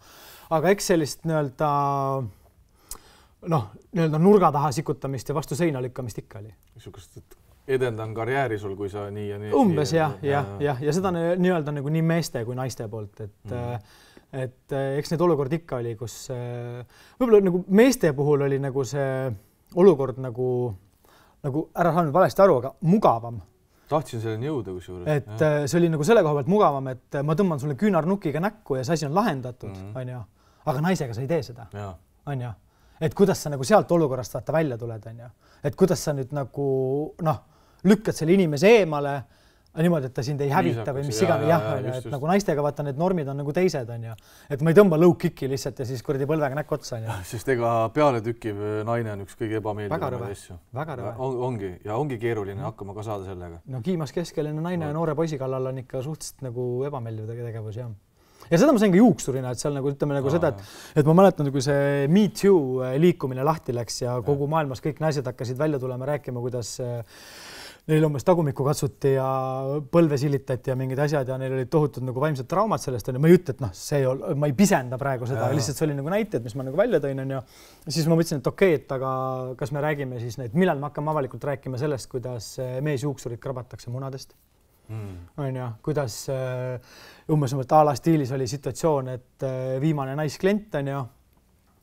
aga eks sellist nii-öelda noh, nii-öelda nurga taha sikutamist ja vastu seina lükkamist ikka oli. Niisugust, et edendan karjääri sul, kui sa nii ja nii. Umbes jah, jah, jah, ja seda nii-öelda nagu nii meeste kui naiste poolt, et mm. et eks need olukord ikka oli, kus võib-olla nagu meeste puhul oli nagu see olukord nagu, nagu ära saanud valesti aru, aga mugavam. Tahtsin selleni jõuda, kus juures. Et jah. See oli nagu selle koha pealt mugavam, et ma tõmban sulle küünarnukiga näkku ja see asi on lahendatud, mm. on ju. Aga naisega sa ei tee seda, ja. On ju. Et kuidas sa nagu sealt olukorrast vaata välja tuled, on ju. Et kuidas sa nüüd nagu, noh, lükkad selle inimese eemale, niimoodi, et ta sind ei hävita või mis igane jah, ja, ja, et just. Nagu naistega vaata need normid on nagu teised, on ju. Et ma ei tõmba low kicki lihtsalt ja siis kuradi põlvega näkku otsa, on ju. Sest ega peale tükkiv naine on üks kõige ebameeldivaid asju. Väga rõve. On, ongi, ja ongi keeruline mm. hakkama ka saada sellega. No kiimas keskeline naine ja noore poisi kallal on ikka suhteliselt nagu ebameeldiv tegevus, jah. Ja seda ma sain ka juuksurina, et seal nagu ütleme nagu Aa, seda, et, et ma mäletan, kui see Me Too liikumine lahti läks ja kogu maailmas kõik naised hakkasid välja tulema rääkima, kuidas neil umbes tagumikku katsuti ja põlve silitati ja mingid asjad ja neil olid tohutud nagu vaimsed traumad sellest. Ma ei ütle, et noh, see ei ole, ma ei pisenda praegu seda, ja. Lihtsalt see oli nagu näited, mis ma nagu välja tõin. Ja siis ma mõtlesin, et okei, et aga kas me räägime siis neid, millal me hakkame avalikult rääkima sellest, kuidas mees juuksurid krabatakse munadest. Mm. On ja, kuidas uh, umbes umbes ala stiilis oli situatsioon, et uh, viimane naisklient on ja,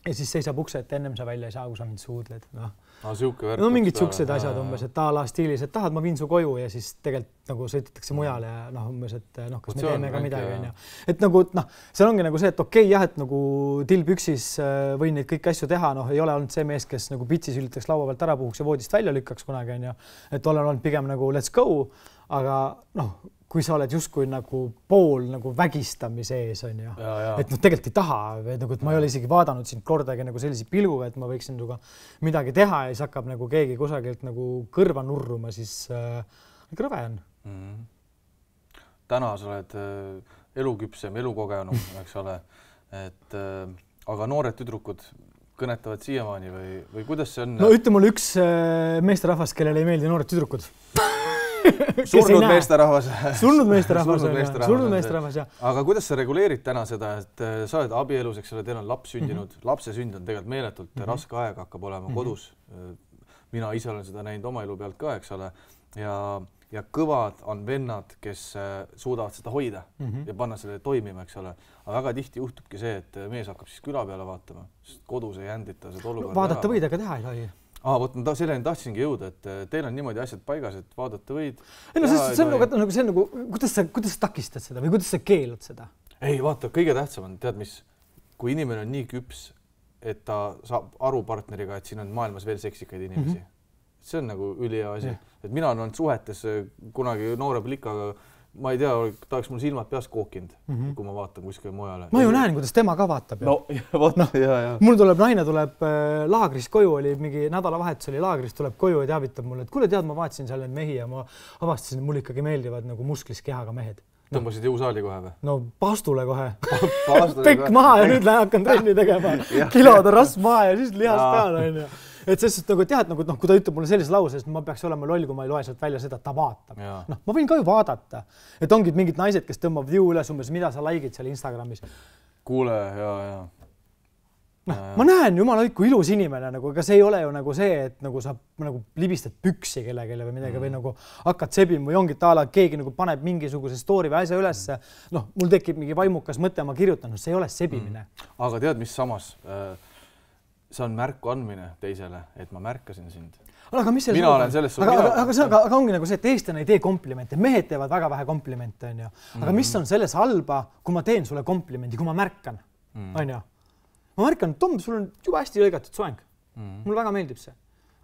ja siis seisab ukse, et ennem sa välja ei saa, kui sa mind suudled. No, no, värk, no mingid suksed asjad umbes, et ala stiilis, et tahad, ma viin su koju ja siis tegelikult nagu sõidetakse mujale ja noh, umbes, et noh, kas me teeme ka midagi. Ja. Et nagu, noh, seal ongi nagu see, et okei, jah, et nagu tilpüksis uh, võin neid kõik asju teha, noh, ei ole olnud see mees, kes nagu pitsi sülitaks laua pealt ära puhuks ja voodist välja lükkaks kunagi, on ja, et olen olnud pigem nagu let's go. Aga noh, kui sa oled justkui nagu pool nagu vägistamise ees, on ju, ja, ja. Et noh, tegelikult ei taha, nagu, et ma ei ole isegi vaadanud sind kordagi nagu sellise pilguga, et ma võiksin tuga midagi teha ja siis hakkab nagu keegi kusagilt nagu kõrva nurruma, siis äh, krõve on. Mm. Täna sa oled äh, eluküpsem, elukogenum, eks ole, et äh, aga noored tüdrukud kõnetavad siiamaani või, või kuidas see on? No ütle mulle üks äh, meesterahvas, kellele ei meeldi noored tüdrukud. surnud meesterahvas. surnud meesterahvas, surnud meesterahvas, jah. Aga kuidas sa reguleerid täna seda, et sa oled abielus, eks ole, teil on laps sündinud, mm-hmm. lapse sünd on tegelikult meeletult mm-hmm. raske aeg hakkab olema mm-hmm. kodus. Mina ise olen seda näinud oma elu pealt ka, eks ole, ja, ja kõvad on vennad, kes suudavad seda hoida mm-hmm. ja panna selle toimima, eks ole. Aga väga tihti juhtubki see, et mees hakkab siis küla peale vaatama, sest kodus ei jändita seda olukorda. No, vaadata võid, aga teha ei tohi. Ah, võt, ma selleni tahtsingi jõuda, et teil on niimoodi asjad paigas, et vaadata võid. Ei, no, see, see on nagu, see on nagu, kuidas sa, kuidas sa takistad seda või kuidas sa keelad seda? Ei, vaata, kõige tähtsam on, tead mis, kui inimene on nii küps, et ta saab aru partneriga, et siin on maailmas veel seksikaid inimesi. Mm-hmm. See on nagu ülihea asi. Yeah. Et mina olen suhetes kunagi noore plikaga, ma ei tea, ta oleks mul silmad peas kookinud, mm-hmm. kui ma vaatan kuskil mujale. Ma ju näen, kuidas tema ka vaatab. No, vaat, no, ja, ja. Mul tuleb, naine tuleb äh, laagrist koju, oli mingi nädalavahetus oli laagrist, tuleb koju ja teavitab mulle, et kuule tead, ma vaatasin seal need mehi ja ma avastasin, et mul ikkagi meeldivad nagu musklis kehaga mehed. No. Tõmbasid jõusaali kohe või? No pastule kohe. Pekk maha ja nüüd hakkan trenni tegema. Kilode rasv maha ja siis lihas peale. On ja. Et sest nagu tead, nagu, noh, kui ta ütleb mulle sellise lause, et ma peaks olema loll, kui ma ei loe sealt välja seda, et ta vaatab. No, ma võin ka ju vaadata. Et ongi mingid naised, kes tõmbavad jõu üles umbes, mida sa like'id seal Instagramis. Kuule, ja, ja. No, ma näen jumala õiku ilus inimene, nagu, aga see ei ole ju nagu see, et nagu sa nagu libistad püksi kellegele või midagi mm. või nagu hakkad sebima või ongi taala, keegi nagu paneb mingisuguse story või asja ülesse. Noh, mul tekib mingi vaimukas mõte, ma kirjutan, no see ei ole sebimine. Mm. Aga tead, mis samas? See on märku andmine teisele, et ma märkasin sind. Aga mis mina olen selles aga, aga, aga, see, aga, aga ongi nagu see, et eestlane ei tee komplimente, mehed teevad väga vähe komplimente, on ju. Aga mm. mis on selles halba, kui ma teen sulle komplimendi, kui ma märkan, mm. on ju. Ma märkan, Tom, sul on juba hästi lõigatud soeng. Mm. Mul väga meeldib see,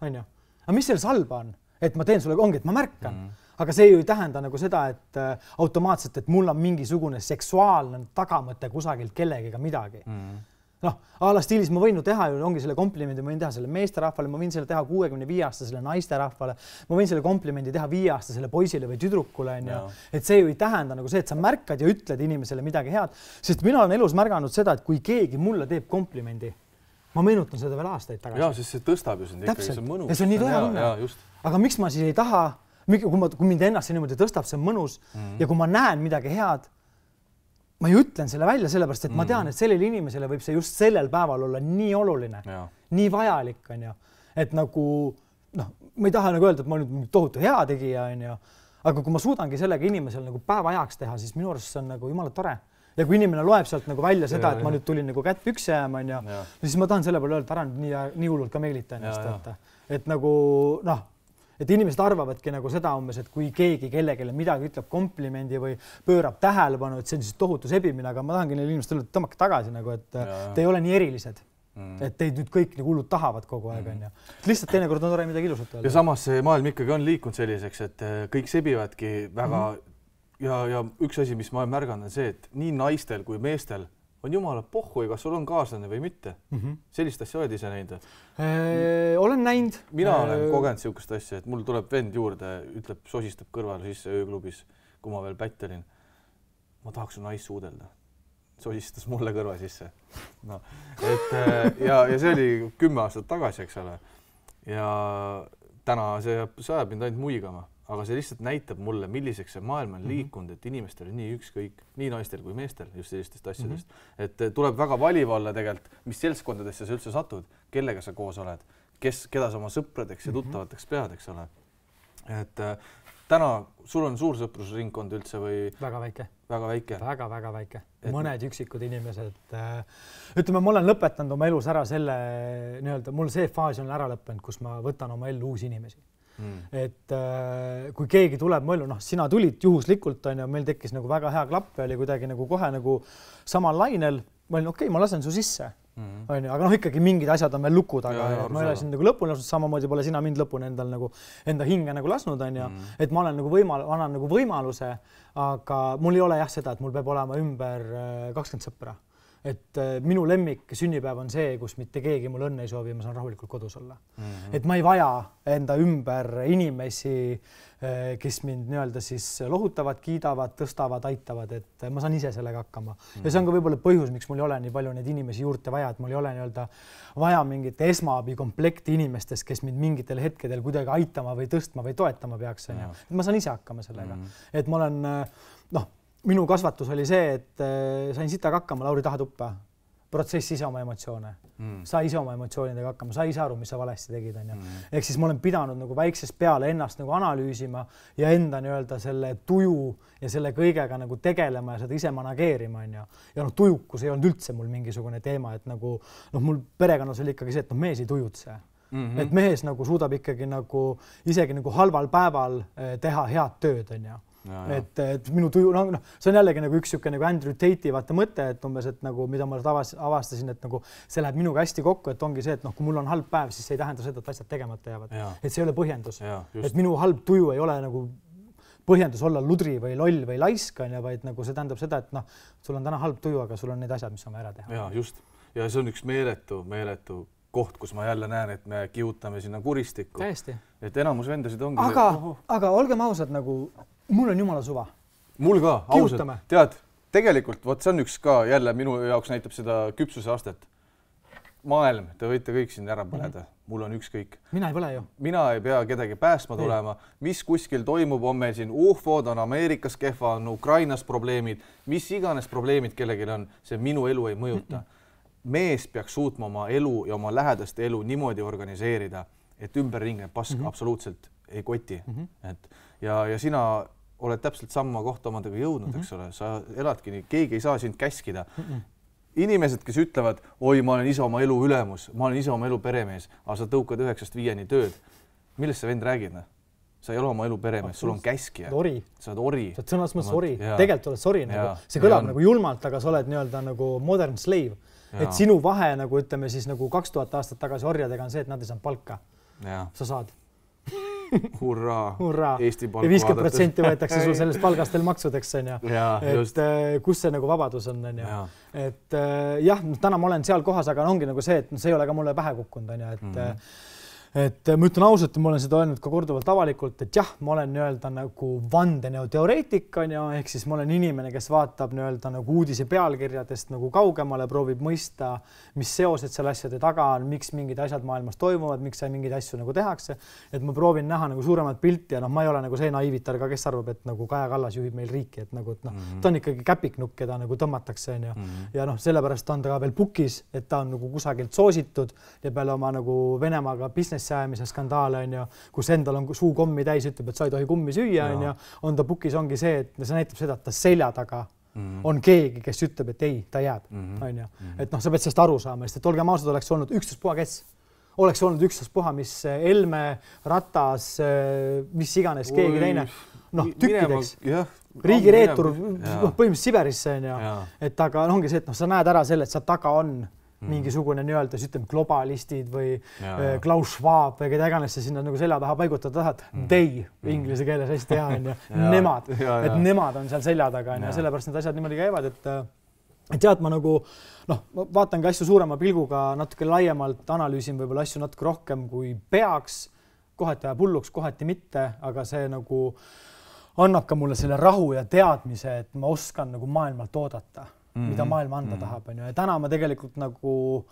on ju. Aga mis selles halba on, et ma teen sulle, ongi, et ma märkan. Mm. Aga see ju ei tähenda nagu seda, et äh, automaatselt, et mul on mingisugune seksuaalne tagamõte kusagilt kellegiga midagi. Mm. Noh, ala stiilis ma võin ju teha, ju ongi selle komplimendi, ma võin teha selle meesterahvale, ma võin selle teha kuuekümne viie aastasele naisterahvale, ma võin selle komplimendi teha viie aastasele poisile või tüdrukule, on ju. Et see ju ei tähenda nagu see, et sa märkad ja ütled inimesele midagi head, sest mina olen elus märganud seda, et kui keegi mulle teeb komplimendi, ma meenutan seda veel aastaid tagasi. Jaa, sest see tõstab ju sind ikkagi, see on mõnus. Ja see on nii tore tunne. Aga miks ma siis ei taha, kui, ma, kui mind ennast niimoodi tõstab, see on mõnus mm. ja kui ma näen midagi head, ma ju ütlen selle välja sellepärast, et mm. ma tean, et sellele inimesele võib see just sellel päeval olla nii oluline, ja. nii vajalik, on ju. Et nagu, noh, ma ei taha nagu öelda, et ma nüüd tohutu hea tegija, on ju, aga kui ma suudangi sellega inimesel nagu päeva ajaks teha, siis minu arust see on nagu jumala tore. Ja kui inimene loeb sealt nagu välja seda, et ma nüüd tulin nagu kätt pükse jääma, on ju, siis ma tahan selle peale öelda, ära nii, nii hullult ka meelita ennast, et, et nagu, noh, et inimesed arvavadki nagu seda umbes, et kui keegi kellegile midagi ütleb komplimendi või pöörab tähelepanu, et see on siis tohutu sebimine, aga ma tahangi neile inimestele tõmmake tagasi nagu, et ja, te ei ole nii erilised. Mm. Et teid nüüd kõik nagu hullud tahavad kogu aeg, on ju. Lihtsalt teinekord on tore midagi ilusat öelda. Ja samas see maailm ikkagi on liikunud selliseks, et kõik sebivadki väga mm-hmm. ja, ja üks asi, mis ma olen märganud, on see, et nii naistel kui meestel on jumala pohhui, kas sul on kaaslane või mitte. Mm-hmm. Sellist asja oled ise näinud? Eee, olen näinud. Mina eee... olen kogenud siukest asja, et mul tuleb vend juurde, ütleb, sosistab kõrval sisse ööklubis, kui ma veel pätt olin. Ma tahaks su naist suudelda. Sosistas mulle kõrva sisse. No, et, ja, ja see oli kümme aastat tagasi, eks ole. Ja täna see sajab mind ainult muigama. Aga see lihtsalt näitab mulle, milliseks see maailm on liikunud, et inimestel on nii ükskõik, nii naistel kui meestel just sellistest asjadest. Mm-hmm. Et tuleb väga valiv olla tegelikult, mis seltskondadesse sa üldse satud, kellega sa koos oled, kes, keda sa oma sõpradeks ja tuttavateks pead, eks ole. Et täna sul on suur sõprusringkond üldse või? Väga väike. Väga väike? Väga, väga väike. Et... Mõned üksikud inimesed. Ütleme, ma olen lõpetanud oma elus ära selle, nii-öelda, mul see faas on ära lõppenud, kus ma võtan oma ellu uusi inimesi. Mm. Et äh, kui keegi tuleb mõellu, noh, sina tulid juhuslikult, on ja meil tekkis nagu väga hea klapp ja oli kuidagi nagu kohe nagu samal lainel. Ma olin, okei, okay, ma lasen su sisse, mm. on ju, aga noh, ikkagi mingid asjad on veel lukud, aga ja, ma ei ole siin nagu lõpuni lasnud, samamoodi pole sina mind lõpuni endal nagu enda hinge nagu lasnud, on ju, mm. et ma olen nagu võimal, annan nagu võimaluse, aga mul ei ole jah seda, et mul peab olema ümber kakskümmend sõpra. Et minu lemmik sünnipäev on see, kus mitte keegi mul õnne ei soovi, ma saan rahulikult kodus olla. Mm-hmm. Et ma ei vaja enda ümber inimesi, kes mind nii-öelda siis lohutavad, kiidavad, tõstavad, aitavad, et ma saan ise sellega hakkama. Mm-hmm. Ja see on ka võib-olla põhjus, miks mul ei ole nii palju neid inimesi juurde vaja, et mul ei ole nii-öelda vaja mingit esmaabi komplekti inimestest, kes mind mingitel hetkedel kuidagi aitama või tõstma või toetama peaks. Ja. Ma saan ise hakkama sellega. Mm-hmm. Et ma olen, noh, minu kasvatus oli see, et sain sitaga hakkama, Lauri taha tuppa. Protsess ise oma emotsioone. Mm. Sa ise oma emotsioonidega hakkama, sa ise aru, mis sa valesti tegid. Mm. Ehk siis ma olen pidanud nagu väiksest peale ennast nagu analüüsima ja enda nii-öelda selle tuju ja selle kõigega nagu tegelema ja seda ise manageerima. Ja noh, tujukus ei olnud üldse mul mingisugune teema, et nagu, noh, mul perekonnas oli ikkagi see, et noh, mees ei tujutse. Mm-hmm. Et mees nagu suudab ikkagi nagu isegi nagu halval päeval teha head tööd, on ju. Ja, ja. Et, et minu tuju, no, no, see on jällegi nagu üks siuke nagu Andrew Tate'i vaata mõte, et umbes, et nagu, mida ma avastasin, et nagu see läheb minuga hästi kokku, et ongi see, et noh, kui mul on halb päev, siis see ei tähenda seda, et asjad tegemata jäävad. Ja. Et see ei ole põhjendus. Ja, et minu halb tuju ei ole nagu põhjendus olla ludri või loll või laisk, vaid nagu see tähendab seda, et noh, sul on täna halb tuju, aga sul on need asjad, mis on ära teha. Ja, just. Ja see on üks meeletu, meeletu koht, kus ma jälle näen, et me kiutame sinna kuristikku. Täiesti. Et enamus vendasid ongi... Aga, see... aga olgem ausad, nagu mul on jumala suva. Mul ka, ausalt. Tead, tegelikult, võt, see on üks ka jälle minu jaoks näitab seda küpsuse astet. Maailm, te võite kõik siin ära põleda. Mm-hmm. Mul on ükskõik. Mina ei põle ju. Mina ei pea kedagi päästma tulema. Mis kuskil toimub, on meil siin ufod, on Ameerikas kehva, on Ukrainas probleemid, mis iganes probleemid kellegil on, see minu elu ei mõjuta. Mm-hmm. Mees peaks suutma oma elu ja oma lähedaste elu niimoodi organiseerida, et ümberringne pask mm-hmm. absoluutselt ei koti. Mm-hmm. Et, ja, ja sina oled täpselt samma kohta omadega jõudnud, mm-hmm. eks ole, sa eladki nii, keegi ei saa sind käskida. Mm-hmm. Inimesed, kes ütlevad, oi, ma olen ise oma elu ülemus, ma olen ise oma elu peremees, aga sa tõukad üheksast viieni tööd. Millest sa vend räägid? Sa ei ole oma elu peremees, sul on käskija. Ori. Sa oled ori. Sa oled sõnas mõttes ori. Tegelikult oled sori. Nagu. See kõlab ja, nagu julmalt, aga sa oled nii-öelda nagu modern slave. Ja. Et sinu vahe, nagu ütleme siis nagu kaks tuhat aastat tagasi orjadega on see, et nad ei saanud palka. Ja. Sa saad. Hurraa, Hurraa. Eesti palk ja viiskümmend protsenti võetakse sul sellest palgastel maksudeks, on ju. Ja, et just. Kus see nagu vabadus on, on ju. Ja. Et jah, täna ma olen seal kohas, aga ongi nagu see, et see ei ole ka mulle pähe kukkunud, on ju. Et, mm-hmm. et ma ütlen ausalt, ma olen seda öelnud ka korduvalt avalikult, et jah, ma olen nii-öelda nagu vandenõuteoreetik on ju, ehk siis ma olen inimene, kes vaatab nii-öelda nagu uudise pealkirjadest nagu kaugemale, proovib mõista, mis seosed seal asjade taga on, miks mingid asjad maailmas toimuvad, miks mingeid asju nagu tehakse, et ma proovin näha nagu suuremat pilti ja noh, ma ei ole nagu see naiivitar ka, kes arvab, et nagu Kaja Kallas juhib meil riiki, et nagu, et noh, mm -hmm. ta on ikkagi käpiknukk, keda nagu tõmmatakse on ju. Mm -hmm. ja noh, sellepärast on ta ka veel pukis, et ta on nagu kusagilt soositud ja peale oma nagu Venemaaga business ajamise skandaale on ju, kus endal on suu kommi täis, ütleb, et sa ei tohi kummi süüa on ju, on ta pukis, ongi see, et see näitab seda, et ta selja taga mm -hmm. on keegi, kes ütleb, et ei, ta jääb mm -hmm. on ju. Et noh, sa pead sellest aru saama, sest et olgem ausad, oleks olnud ükstaspuha kes, oleks olnud ükstaspuha, mis Helme, Ratas, mis iganes, keegi teine, noh, tükkideks. Riigireetur, noh, põhimõtteliselt Siberisse on ju, et aga ongi see, et noh, sa näed ära selle, et sa taga on Mm. mingisugune nii-öelda, ütleme, globalistid või ja, Klaus Schwab või keda iganes sa sinna nagu selja taha paigutada tahad. Mm. They mm. inglise keeles hästi hea on ju. Nemad, ja, et ja. nemad on seal selja taga on ja sellepärast need asjad niimoodi käivad, et et tead, ma nagu noh, vaatan ka asju suurema pilguga, natuke laiemalt analüüsin võib-olla asju natuke rohkem kui peaks, kohati ajab hulluks, kohati mitte, aga see nagu annab ka mulle selle rahu ja teadmise, et ma oskan nagu maailmalt oodata. Mm-hmm. mida maailma anda mm-hmm. tahab, on ju. Ja täna ma tegelikult nagu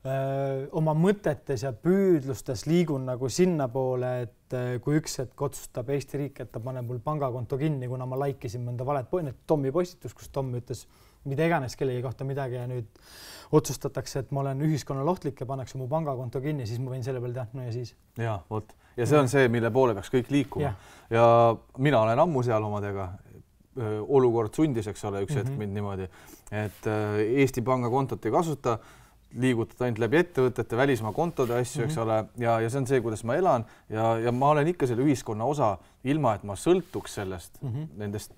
öö, oma mõtetes ja püüdlustes liigun nagu sinna poole, et öö, kui üks hetk otsustab Eesti riik, et ta paneb mul pangakonto kinni, kuna ma laikisin mõnda valet Tommi postitus, kus Tom ütles mida iganes kellegi kohta midagi ja nüüd otsustatakse, et ma olen ühiskonnale ohtlik ja pannakse mu pangakonto kinni, siis ma võin selle peale teha, no ja siis. Ja, vot. Ja see on see, mille poole peaks kõik liikuma. Ja, ja mina olen ammu seal omadega. Olukord sundis, eks ole, üks hetk mm-hmm. mind niimoodi, et Eesti pangakontot ei kasuta, liigutad ainult läbi ettevõtete, välismaa kontode asju, mm-hmm. eks ole, ja, ja see on see, kuidas ma elan ja, ja ma olen ikka selle ühiskonna osa, ilma et ma sõltuks sellest, mm-hmm. nendest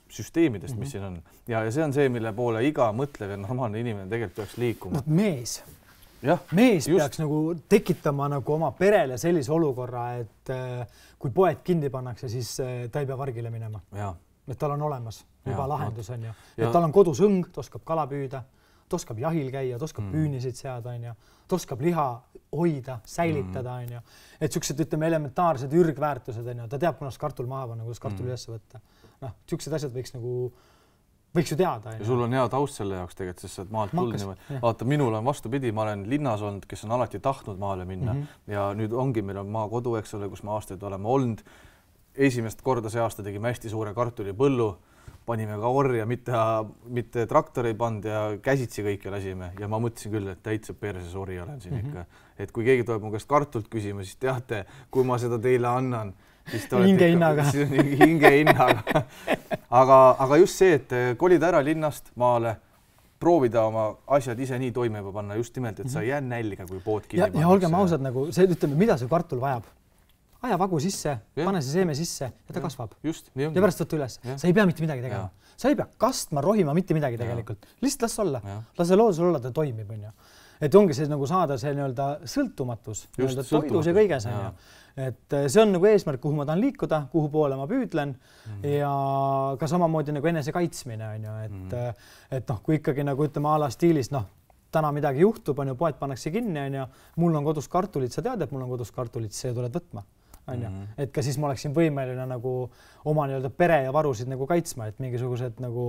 süsteemidest, mm-hmm. mis siin on. Ja, ja see on see, mille poole iga mõtlev ja normaalne inimene tegelikult peaks liikuma. Mees. Ja, mees just. Peaks nagu tekitama nagu oma perele sellise olukorra, et kui poed kinni pannakse, siis ta ei pea vargile minema. Ja. Et tal on olemas, juba ja, lahendus on ju. Et tal on kodus õng, ta oskab kala püüda, ta oskab jahil käia, ta oskab mm. püünisid seada, on ju. Ta oskab liha hoida, säilitada, on ju. Et siuksed, ütleme, elementaarsed ürgväärtused, on ju. Ta teab, kunas kartul maha panna, kuidas kartul mm. üles võtta. Noh, siuksed asjad võiks nagu, võiks ju teada. Ja sul on hea taust selle jaoks tegelikult, sest et maalt tulnud. Vaata, minul on vastupidi, ma olen linnas olnud, kes on alati tahtnud maale minna mm -hmm. ja nüüd ongi, meil on maa kodu, eks ole, kus ma aastaid oleme olnud. Esimest korda see aasta tegime hästi suure kartulipõllu, panime ka orja, mitte, mitte traktori pand ja käsitsi kõike lasime ja ma mõtlesin küll, et täitsa perses ori olen siin mm-hmm. ikka. Et kui keegi tuleb mu käest kartult küsima, siis teate, kui ma seda teile annan, siis te olete hinge hinnaga. hinge hinnaga. aga, aga just see, et kolida ära linnast maale, proovida oma asjad ise nii toime panna just nimelt, et sa ei jää nälga, kui pood kinni ja, ja olgem ausad, nagu see, ütleme, mida see kartul vajab? Aja vagu sisse, ja. pane see seeme sisse ja ta ja. kasvab. Just, ja pärast võtta üles. Ja. Sa ei pea mitte midagi tegema. Ja. Sa ei pea kastma, rohima mitte midagi tegelikult. Ja. Lihtsalt las olla. Ja. Las see loodusel olla, ta toimib. On ju. Et ongi see nagu saada see nii-öelda sõltumatus, nii-öelda toidus ja kõiges. Ja. Et see on nagu eesmärk, kuhu ma tahan liikuda, kuhu poole ma püüdlen mm. ja ka samamoodi nagu enese kaitsmine. On ju. Et, mm. et noh, kui ikkagi nagu ütleme ala stiilis, noh, täna midagi juhtub, on ju, poed pannakse kinni, on ju, mul on kodus kartulid, sa tead, et mul on kodus kartulid, see tuled võtma. On ju. Mm-hmm. Et ka siis ma oleksin võimeline nagu oma nii-öelda pere ja varusid nagu kaitsma, et mingisugused nagu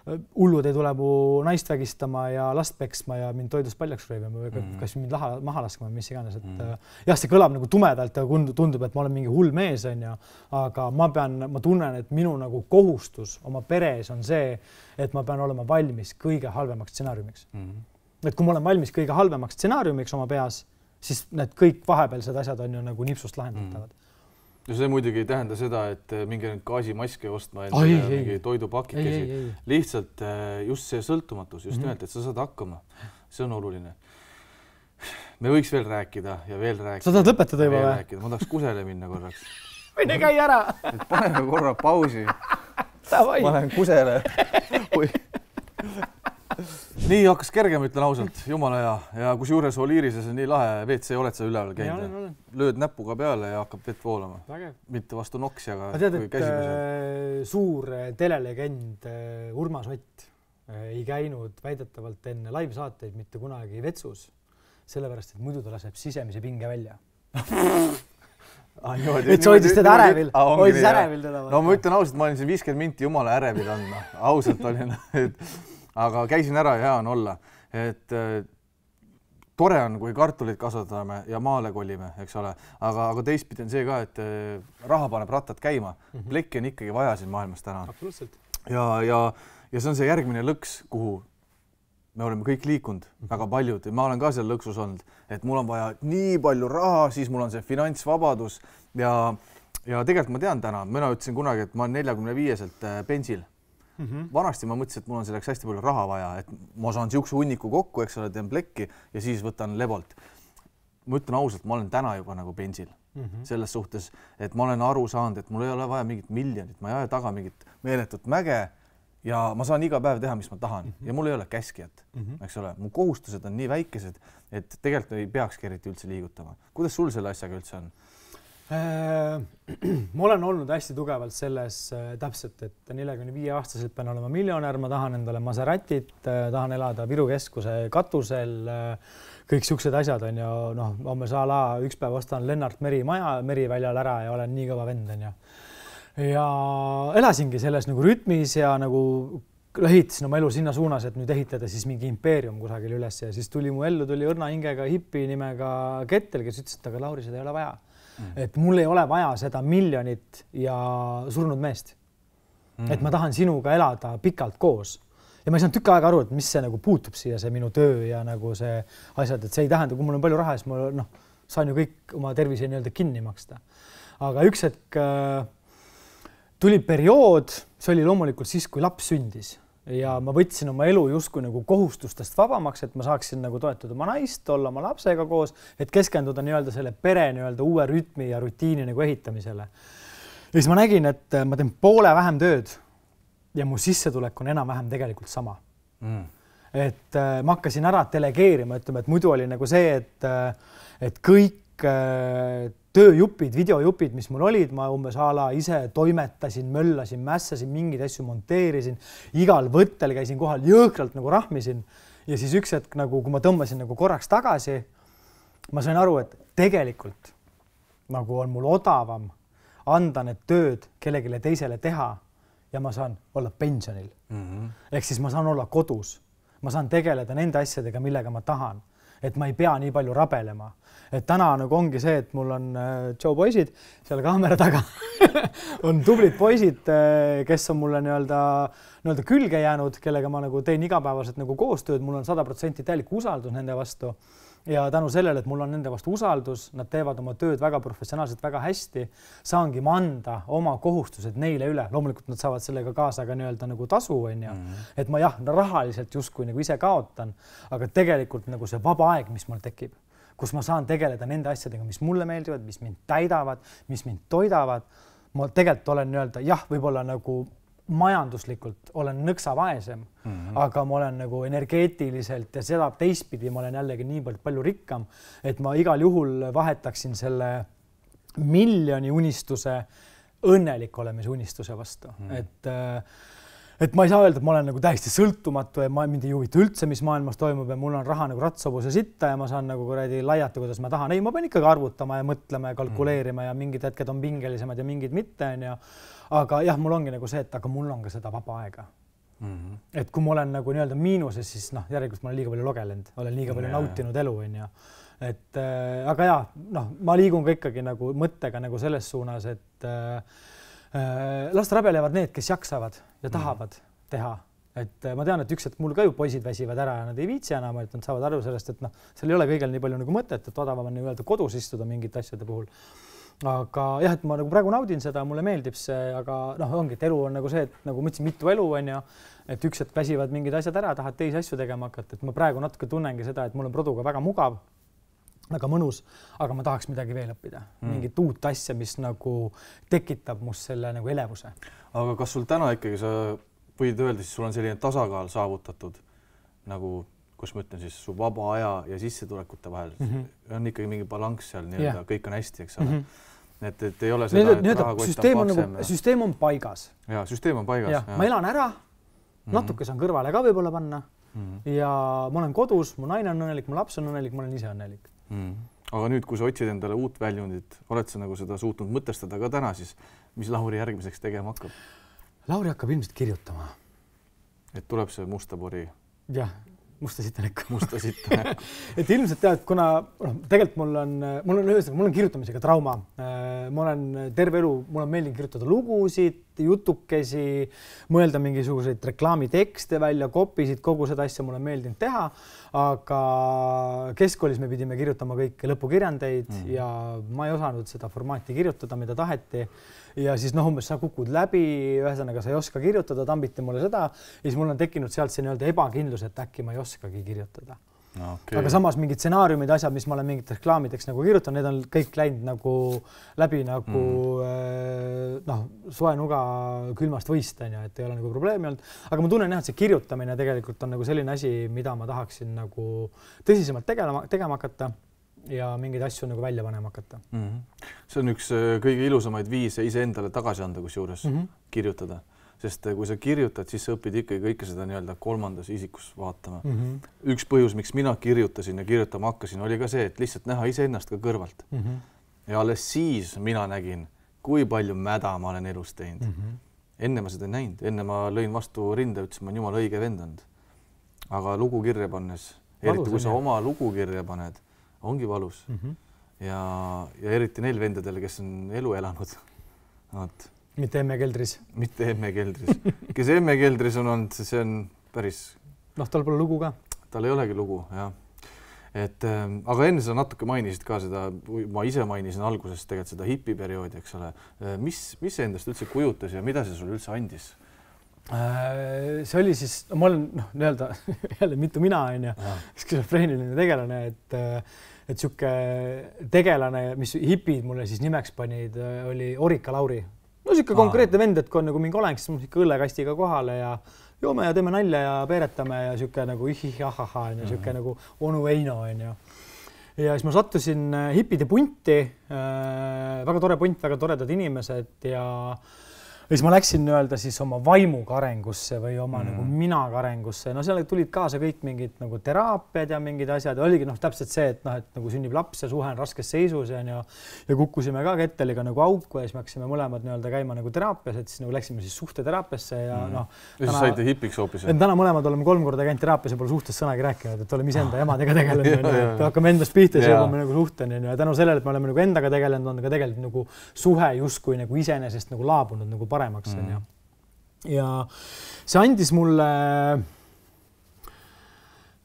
hullud ei tule mu naist vägistama ja last peksma ja mind toidust paljaks röövima või mm-hmm. kas mind laha, maha laskma, mis iganes. Et mm-hmm. jah, see kõlab nagu tumedalt ja tundub, et ma olen mingi hull mees, on ju, aga ma pean, ma tunnen, et minu nagu kohustus oma peres on see, et ma pean olema valmis kõige halvemaks stsenaariumiks. Mm-hmm. Et kui ma olen valmis kõige halvemaks stsenaariumiks oma peas, siis need kõik vahepealsed asjad on ju nagu nipsust lahendatavad. Mm. Ja see muidugi ei tähenda seda, et mingi nüüd gaasimaske ostma endale ai, mingi toidupakikesi. Lihtsalt just see sõltumatus, just mm-hmm. nimelt, et sa saad hakkama. See on oluline. Me võiks veel rääkida ja veel rääkida. Sa tahad lõpetada juba või? Ma tahaks kusele minna korraks. Mine käi ära! Et paneme korra pausi. Ma lähen kusele. Nii hakkas kergem, ütlen ausalt, jumala hea. Ja kus juures Oliirises on nii lahe V C, oled sa üleval käinud? Lööd näpuga peale ja hakkab vett voolama. Vägev. Mitte vastu noksi, aga tead, kui käsimuse. Suur telelegend Urmas Ott ei käinud väidetavalt enne live-saateid mitte kunagi vetsus, sellepärast, et muidu ta laseb sisemise pinge välja. Ah, niimoodi, et sa hoidis teda ärevil, hoidis ärevil teda. No ma ütlen ausalt, ma olin siin viiskümmend minti jumala ärevil andma, ausalt olin, et aga käisin ära ja hea on olla, et tore on, kui kartulit kasvatame ja maale kolime, eks ole, aga, aga teistpidi on see ka, et raha paneb rattad käima. Mm-hmm. Plekki on ikkagi vaja siin maailmas täna. Absoluutselt. Ja, ja, ja see on see järgmine lõks, kuhu me oleme kõik liikunud, väga paljud, ja ma olen ka seal lõksus olnud, et mul on vaja nii palju raha, siis mul on see finantsvabadus ja, ja tegelikult ma tean täna, mina ütlesin kunagi, et ma olen neljakümne viieselt pensil. Mm-hmm. Vanasti ma mõtlesin, et mul on selleks hästi palju raha vaja, et ma saan siukse hunniku kokku, eks ole, teen plekki ja siis võtan lebolt. Ma ütlen ausalt, ma olen täna juba nagu pensil mm-hmm. selles suhtes, et ma olen aru saanud, et mul ei ole vaja mingit miljonit, ma ei aja taga mingit meeletut mäge ja ma saan iga päev teha, mis ma tahan mm-hmm. ja mul ei ole käskijat, mm-hmm. eks ole, mu kohustused on nii väikesed, et tegelikult ei peakski eriti üldse liigutama. Kuidas sul selle asjaga üldse on? Ma olen olnud hästi tugevalt selles täpselt, et neljakümne viie aastaselt pean olema miljonär, ma tahan endale Maseratit, tahan elada Viru keskuse katusel, kõik siuksed asjad on ju, noh, ma saan üks päev ostan Lennart Meri maja Meriväljal ära ja olen nii kõva vend on ju. Ja elasingi selles nagu rütmis ja nagu ehitasin oma elu sinna suunas, et nüüd ehitada siis mingi impeerium kusagil üles ja siis tuli mu ellu, tuli õrna hingega hipi nimega Kettel, kes ütles, et aga Lauri, seda ei ole vaja. Mm. Et mul ei ole vaja seda miljonit ja surnud meest. Mm. Et ma tahan sinuga elada pikalt koos. Ja ma ei saanud tükk aega aru, et mis see nagu puutub siia, see minu töö ja nagu see asjad, et see ei tähenda, kui mul on palju raha, siis ma noh, saan ju kõik oma tervise nii-öelda kinni maksta. Aga üks hetk äh, tuli periood, see oli loomulikult siis, kui laps sündis. Ja ma võtsin oma elu justkui nagu kohustustest vabamaks, et ma saaksin nagu toetada oma naist, olla oma lapsega koos, et keskenduda nii-öelda selle pere nii-öelda uue rütmi ja rutiini nagu ehitamisele. Ja siis ma nägin, et ma teen poole vähem tööd ja mu sissetulek on enam-vähem tegelikult sama. Mm. Et äh, ma hakkasin ära delegeerima, ütleme, et muidu oli nagu see, et, et kõik äh, tööjupid, videojupid, mis mul olid, ma umbes ala ise toimetasin, möllasin, mässasin, mingeid asju monteerisin, igal võttel käisin kohal, jõhkralt nagu rahmisin ja siis üks hetk, nagu, kui ma tõmbasin nagu korraks tagasi, ma sain aru, et tegelikult nagu on mul odavam anda need tööd kellegile teisele teha ja ma saan olla pensionil. Mm-hmm. Ehk siis ma saan olla kodus, ma saan tegeleda nende asjadega, millega ma tahan, et ma ei pea nii palju rabelema. Et täna nagu ongi see, et mul on Joe poisid seal kaamera taga, on tublid poisid, kes on mulle nii-öelda, nii-öelda külge jäänud, kellega ma nagu teen igapäevaselt nagu koostööd, mul on sada protsenti täielik usaldus nende vastu ja tänu sellele, et mul on nende vastu usaldus, nad teevad oma tööd väga professionaalselt, väga hästi, saangi ma anda oma kohustused neile üle. Loomulikult nad saavad sellega kaasa ka nii-öelda nagu tasu, on ju. Mm-hmm. Et ma jah, rahaliselt justkui nagu ise kaotan, aga tegelikult nagu see vaba aeg, mis mul tekib, kus ma saan tegeleda nende asjadega, mis mulle meeldivad, mis mind täidavad, mis mind toidavad. Ma tegelikult olen nii-öelda, jah, võib-olla nagu majanduslikult olen nõksa vaesem, mm-hmm. aga ma olen nagu energeetiliselt ja seda teistpidi ma olen jällegi nii palju, palju rikkam, et ma igal juhul vahetaksin selle miljoni unistuse õnnelik olemise unistuse vastu. Mm-hmm. Et, et ma ei saa öelda, et ma olen nagu täiesti sõltumatu ja ma mind ei huvita üldse, mis maailmas toimub ja mul on raha nagu ratsobuse sitta ja ma saan nagu kuradi laiata, kuidas ma tahan. Ei, ma pean ikkagi arvutama ja mõtlema ja kalkuleerima ja mingid hetked on pingelisemad ja mingid mitte. Ja aga jah, mul ongi nagu see, et aga mul on ka seda vaba aega. Mm-hmm. Et kui ma olen nagu nii-öelda miinuses, siis noh, järelikult ma olen liiga palju logelenud, olen liiga palju yeah. nautinud elu. Ja. Et, äh, aga jah, noh, ma liigun ka ikkagi nagu mõttega nagu selles suunas, et äh, last rabelevad need, kes jaksavad ja tahavad mm-hmm. teha. Et äh, ma tean, et üks, et mul ka ju poisid väsivad ära ja nad ei viitsi enam, et nad saavad aru sellest, et noh, seal ei ole kõigel nii palju nagu mõtet, et odavam on nii-öelda kodus istuda mingite asjade puhul. Aga jah, et ma nagu praegu naudin seda, mulle meeldib see, aga noh, ongi, et elu on nagu see, et nagu mõtlesin mitu elu on ja et üks, et väsivad mingid asjad ära, tahad teisi asju tegema hakata, et ma praegu natuke tunnengi seda, et mul on produga väga mugav, väga mõnus, aga ma tahaks midagi veel õppida, mm. mingit uut asja, mis nagu tekitab must selle nagu elevuse. Aga kas sul täna ikkagi sa võid öelda, siis sul on selline tasakaal saavutatud, nagu kus ma ütlen siis su vaba aja ja sissetulekute vahel, mm-hmm. on ikkagi mingi balanss seal, nii-öelda yeah. kõik on hästi, eks ole. Mm-hmm. Et, et ei ole seda, et rahakott on paksem. Nagu, süsteem on paigas. Ja, süsteem on paigas. Ja, ja. Ma elan ära, natuke saan kõrvale ka võib-olla panna mm-hmm. ja ma olen kodus, mu naine on õnnelik, mu laps on õnnelik, ma olen ise õnnelik. Mm. aga nüüd, kui sa otsid endale uut väljundit, oled sa nagu seda suutnud mõtestada ka täna siis, mis Lauri järgmiseks tegema hakkab? Lauri hakkab ilmselt kirjutama. Et tuleb see musta pori? Jah, musta sitta näkku. Musta sitta näkku. Et ilmselt tead, kuna no, tegelikult mul on, mul on ühesõnaga, mul on kirjutamisega trauma. Ma olen terve elu, mul on meeldinud kirjutada lugusid, jutukesi, mõelda mingisuguseid reklaamitekste välja, kopisid, kogu seda asja mul on meeldinud teha, aga keskkoolis me pidime kirjutama kõik lõpukirjandeid mm. ja ma ei osanud seda formaati kirjutada, mida taheti. Ja siis noh, umbes sa kukud läbi, ühesõnaga sa ei oska kirjutada, tambiti mulle seda ja siis mul on tekkinud sealt see nii-öelda ebakindlus, et äkki ma ei oskagi kirjutada. Okay. Aga samas mingid stsenaariumid, asjad, mis ma olen mingit reklaamideks nagu kirjutanud, need on kõik läinud nagu läbi nagu mm. noh, soe nuga külmast võist, on ju, et ei ole nagu probleemi olnud. Aga ma tunnen jah, et see kirjutamine tegelikult on nagu selline asi, mida ma tahaksin nagu tõsisemalt tegema, tegema hakata ja mingeid asju nagu välja panema hakata. Mm -hmm. See on üks kõige ilusamaid viise ise endale tagasi anda, kus juures mm -hmm. kirjutada. Sest kui sa kirjutad, siis sa õpid ikkagi kõike seda nii-öelda kolmandas isikus vaatama. Mm -hmm. Üks põhjus, miks mina kirjutasin ja kirjutama hakkasin, oli ka see, et lihtsalt näha iseennast ka kõrvalt. Mm -hmm. Ja alles siis mina nägin, kui palju mäda ma olen elus teinud. Mm -hmm. Enne ma seda ei näinud, enne ma lõin vastu rinde, ütlesin, ma olen jumala õige vendanud. Aga lugu kirja pannes, eriti kui sa oma lugu kirja paned, ongi valus. Mm -hmm. ja, ja eriti neil vendadel, kes on elu elanud. Vaat. Mitte emme keldris. Mitte emme keldris. Kes emme keldris on olnud, see on päris... Noh, tal pole lugu ka. Tal ei olegi lugu, jah. Et, äh, aga enne sa natuke mainisid ka seda, ma ise mainisin alguses tegelikult seda hipiperioodi, eks ole. Mis, mis see endast üldse kujutas ja mida see sulle üldse andis? See oli siis, ma olen noh, nii-öelda jälle mitu mina on ja skisofreeniline tegelane, et et siuke tegelane, mis hipid mulle siis nimeks panid, oli Orika Lauri. No siuke konkreetne vend, et kui on nagu mingi oleng, siis mul siuke õllekastiga kohale ja joome ja teeme nalja ja peeretame ja siuke nagu ihih-ahaha ja siuke mm. nagu onu Eino on ju. Ja siis ma sattusin hipide punti, väga tore punt, väga toredad inimesed ja ja siis ma läksin nii-öelda siis oma vaimuga arengusse või oma mm. nagu minaga arengusse. No seal tulid kaasa kõik mingid nagu teraapiad ja mingid asjad. Oligi noh, täpselt see, et noh, et nagu sünnib laps ja suhe on raskes seisus ja, ja, ja kukkusime ka ketteliga nagu auku ja siis me hakkasime mõlemad nii-öelda käima nagu teraapias, et siis nagu läksime siis suhteteraapiasse ja mm. noh. Ja siis saite hipiks hoopis. Et täna mõlemad oleme kolm korda käinud teraapias ja pole suhtes sõnagi rääkinud, et oleme iseenda emadega tegelenud, et hakkame endast pihta ja jõuame nagu suhteni ja tänu sellele, et me oleme nagu endaga tegelenud, on ka tegelikult nagu suhe justkui nagu iseenesest nagu laabunud nagu paremaks on mm. ja ja see andis mulle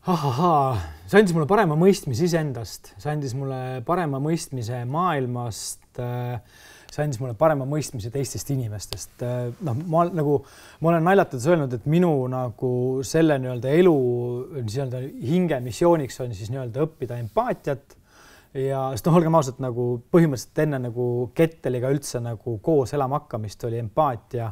ahaha, see andis mulle parema mõistmise iseendast, see andis mulle parema mõistmise maailmast, see andis mulle parema mõistmise teistest inimestest. Noh, ma nagu, ma olen naljatades öelnud, et minu nagu selle nii-öelda elu nii-öelda hinge missiooniks on siis nii-öelda õppida empaatiat ja sest noh, olgem ausalt nagu põhimõtteliselt enne nagu ketteliga üldse nagu koos elama hakkamist oli empaatia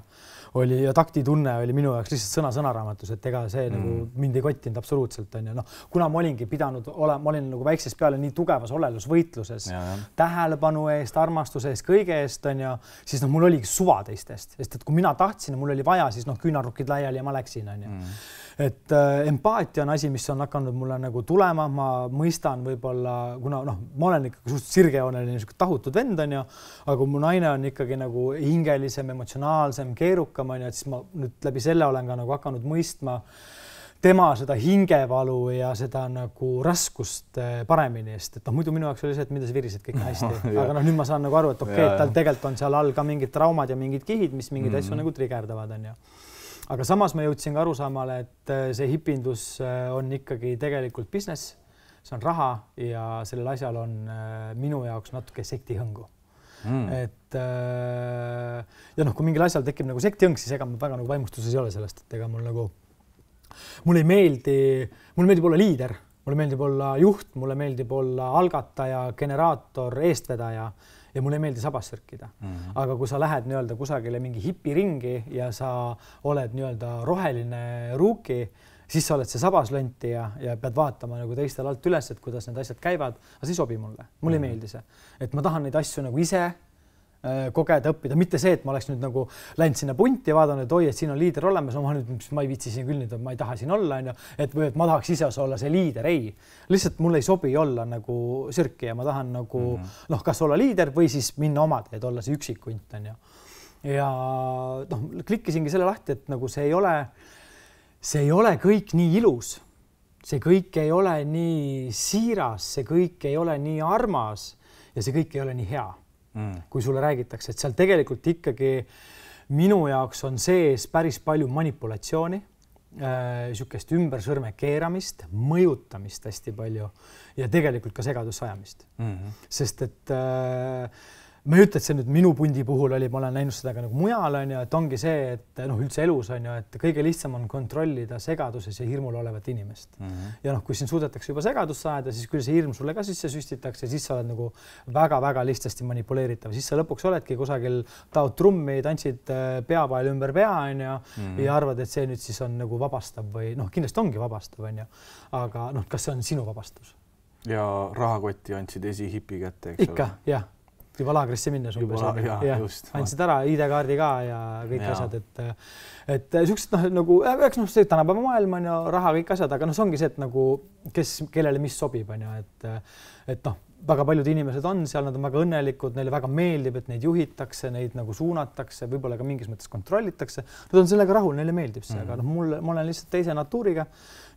oli ja taktitunne oli minu jaoks lihtsalt sõna sõnaraamatus, et ega see mm. nagu mind ei kottinud absoluutselt on ja noh, kuna ma olingi pidanud olema, ma olin nagu väiksest peale nii tugevas olelusvõitluses, ja, ja. tähelepanu eest, armastuse eest, kõige eest on ja siis noh, mul oligi suva teistest, sest et kui mina tahtsin ja mul oli vaja, siis noh, küünarnukid laiali ja ma läksin on ja. Mm. Et äh, empaatia on asi, mis on hakanud mulle nagu tulema, ma mõistan võib-olla, kuna noh, ma olen ikkagi suht sirgejooneline tahutud vend on ja, aga kui mu naine on ikkagi nagu hingelisem, emotsionaalsem, keerukam on ja, et siis ma nüüd läbi selle olen ka nagu hakanud mõistma tema seda hingevalu ja seda nagu raskust paremini eest, et noh, muidu minu jaoks oli see, et mida sa virisid, kõik on hästi, aga noh, nüüd ma saan nagu aru, et okei, okay, et tal tegelikult on seal all ka mingid traumad ja mingid kihid, mis mingid mm. asju nagu trigerdavad on ja. Aga samas ma jõudsin ka arusaamale, et see hipindus on ikkagi tegelikult business, see on raha ja sellel asjal on minu jaoks natuke sektihõngu. Mm. Et ja noh, kui mingil asjal tekib nagu sektihõng, siis ega ma väga nagu vaimustuses ei ole sellest, et ega mul nagu, mulle ei meeldi, mulle meeldib olla liider, mulle meeldib olla juht, mulle meeldib olla algataja, generaator, eestvedaja ja mulle ei meeldi sabas sörkida. Mm-hmm. Aga kui sa lähed nii-öelda kusagile mingi hipiringi ja sa oled nii-öelda roheline ruuki, siis sa oled see sabaslönti ja, ja pead vaatama nagu teistel alt üles, et kuidas need asjad käivad, aga see ei sobi mulle. Mulle mm-hmm. ei meeldi see. Et ma tahan neid asju nagu ise kogeda, õppida, mitte see, et ma oleks nüüd nagu läinud sinna punti ja vaadanud, et oi, et siin on liider olemas, no ma nüüd, ma ei viitsi siin küll nüüd, ma ei taha siin olla, on ju, et või et ma tahaks ise olla see liider, ei. Lihtsalt mulle ei sobi olla nagu sürki ja ma tahan nagu mm -hmm. noh, kas olla liider või siis minna oma teed, olla see üksikunt, on ju. Ja noh, klikkisingi selle lahti, et nagu see ei ole, see ei ole kõik nii ilus, see kõik ei ole nii siiras, see kõik ei ole nii armas ja see kõik ei ole nii hea. Mm. Kui sulle räägitakse, et seal tegelikult ikkagi minu jaoks on sees päris palju manipulatsiooni, niisugust ümber sõrme keeramist, mõjutamist hästi palju ja tegelikult ka segadusse ajamist. Mm-hmm. Sest et äh, ma ei ütle, et see nüüd minu pundi puhul oli, ma olen näinud seda ka nagu mujal, on ju, et ongi see, et noh, üldse elus on ju, et kõige lihtsam on kontrollida segaduses ja hirmul olevat inimest. Mm-hmm. Ja noh, kui siin suudetakse juba segadusse ajada, siis küll see hirm sulle ka sisse süstitakse, siis sa oled nagu väga-väga lihtsasti manipuleeritav. Siis sa lõpuks oledki kusagil, taod trummi, tantsid peapael ümber pea, on ju, mm-hmm. ja arvad, et see nüüd siis on nagu vabastav või noh, kindlasti ongi vabastav, on ju. Aga noh, kas see on sinu vabastus? Ja rahakotti andsid esi hipi kätte, eks Ikka, ole? Jah. Juba laagrisse minnes umbes. Ja, ja, just. Andsid ära I D-kaardi ka ja kõik ja. Asjad, et, et süksed noh, nagu, eks noh, see tänapäeva maailm on ju raha kõik asjad, aga noh, see ongi see, et nagu, kes, kellele mis sobib, on ju, et, et noh, väga paljud inimesed on seal, nad on väga õnnelikud, neile väga meeldib, et neid juhitakse, neid nagu suunatakse, võib-olla ka mingis mõttes kontrollitakse. Nad on sellega rahul, neile meeldib see, mm-hmm. aga noh, mulle, ma olen lihtsalt teise natuuriga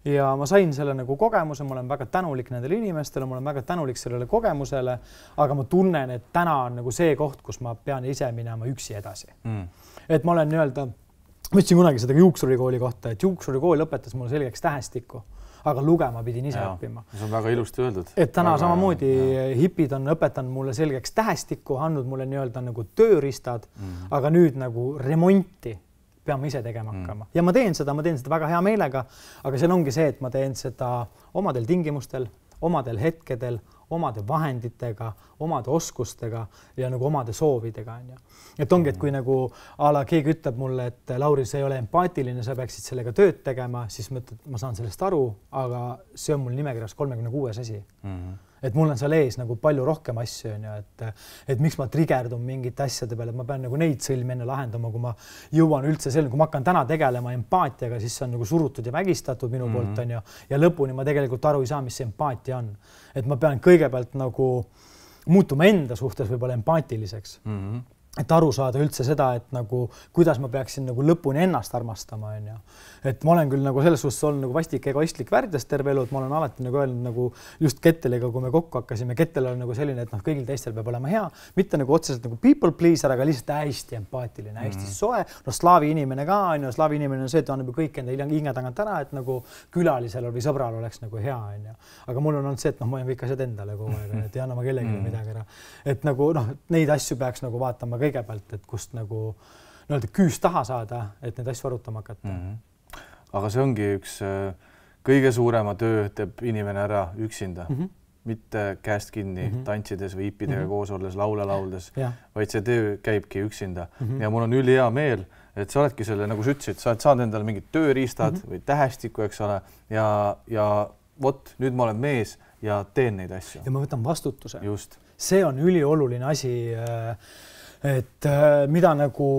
ja ma sain selle nagu kogemuse, ma olen väga tänulik nendele inimestele, ma olen väga tänulik sellele kogemusele, aga ma tunnen, et täna on nagu see koht, kus ma pean ise minema üksi edasi. Mm. Et ma olen nii-öelda, ma ütlesin kunagi seda juuksurikooli kohta, et juuksurikool õpetas mulle selgeks tähestikku, aga lugema pidin ise ja, õppima. See on väga ilusti öeldud. Et täna väga, samamoodi ja. Hipid on õpetanud mulle selgeks tähestikku, andnud mulle nii-öelda nagu tööriistad, mm. aga nüüd nagu remonti peame ise tegema hakkama. Mm. Ja ma teen seda, ma teen seda väga hea meelega, aga seal ongi see, et ma teen seda omadel tingimustel, omadel hetkedel, omade vahenditega, omade oskustega ja nagu omade soovidega. On ju. Et ongi, et kui nagu ala keegi ütleb mulle, et Lauri, see ei ole empaatiline, sa peaksid sellega tööd tegema, siis ma, ma saan sellest aru, aga see on mul nimekirjas kolmekümne kuues asi. Mm-hmm. Et mul on seal ees nagu palju rohkem asju, on ju, et, et miks ma trigerdun mingite asjade peale, et ma pean nagu neid sõlmi enne lahendama, kui ma jõuan üldse selline, kui ma hakkan täna tegelema empaatiaga, siis see on nagu surutud ja vägistatud minu mm-hmm. poolt, on ju, ja lõpuni ma tegelikult aru ei saa, mis see empaatia on. Et ma pean kõigepealt nagu muutuma enda suhtes võib-olla empaatiliseks. Mm-hmm. Et aru saada üldse seda, et nagu, kuidas ma peaksin nagu lõpuni ennast armastama, on ju. Et ma olen küll nagu selles suhtes olnud nagu vastik egoistlik värdjas terve elu, et ma olen alati nagu öelnud nagu just Ketteliga, kui me kokku hakkasime, Kettel on nagu selline, et noh, kõigil teistel peab olema hea, mitte nagu otseselt nagu people pleaser, aga lihtsalt hästi empaatiline, hästi mm-hmm. soe. No slaavi inimene ka, on ju, slaavi inimene on see, et annab ju kõik enda hinge tagant ära, et nagu külalisel või sõbral oleks nagu hea, on ju. Aga mul on olnud see, et noh, ma olen kõik asjad endale kogu aeg, et ei anna ma kellelegi mm-hmm. midagi ära. Et nagu noh, neid asju peaks nagu vaatama kõigepealt, et kust nagu nii-öelda küüs taha saada, et neid asju arutama hakata. Mm-hmm. Aga see ongi üks kõige suurema töö teeb inimene ära üksinda, mm-hmm. mitte käest kinni mm-hmm. tantsides või hipidega mm-hmm. koos olles, laule lauldes, ja. Vaid see töö käibki üksinda. Mm-hmm. Ja mul on üli hea meel, et sa oledki selle, nagu sa ütlesid, sa oled saanud endale mingid tööriistad mm-hmm. või tähestikku, eks ole, ja, ja vot, nüüd ma olen mees ja teen neid asju. Ja ma võtan vastutuse. Just. See on ülioluline asi, et mida nagu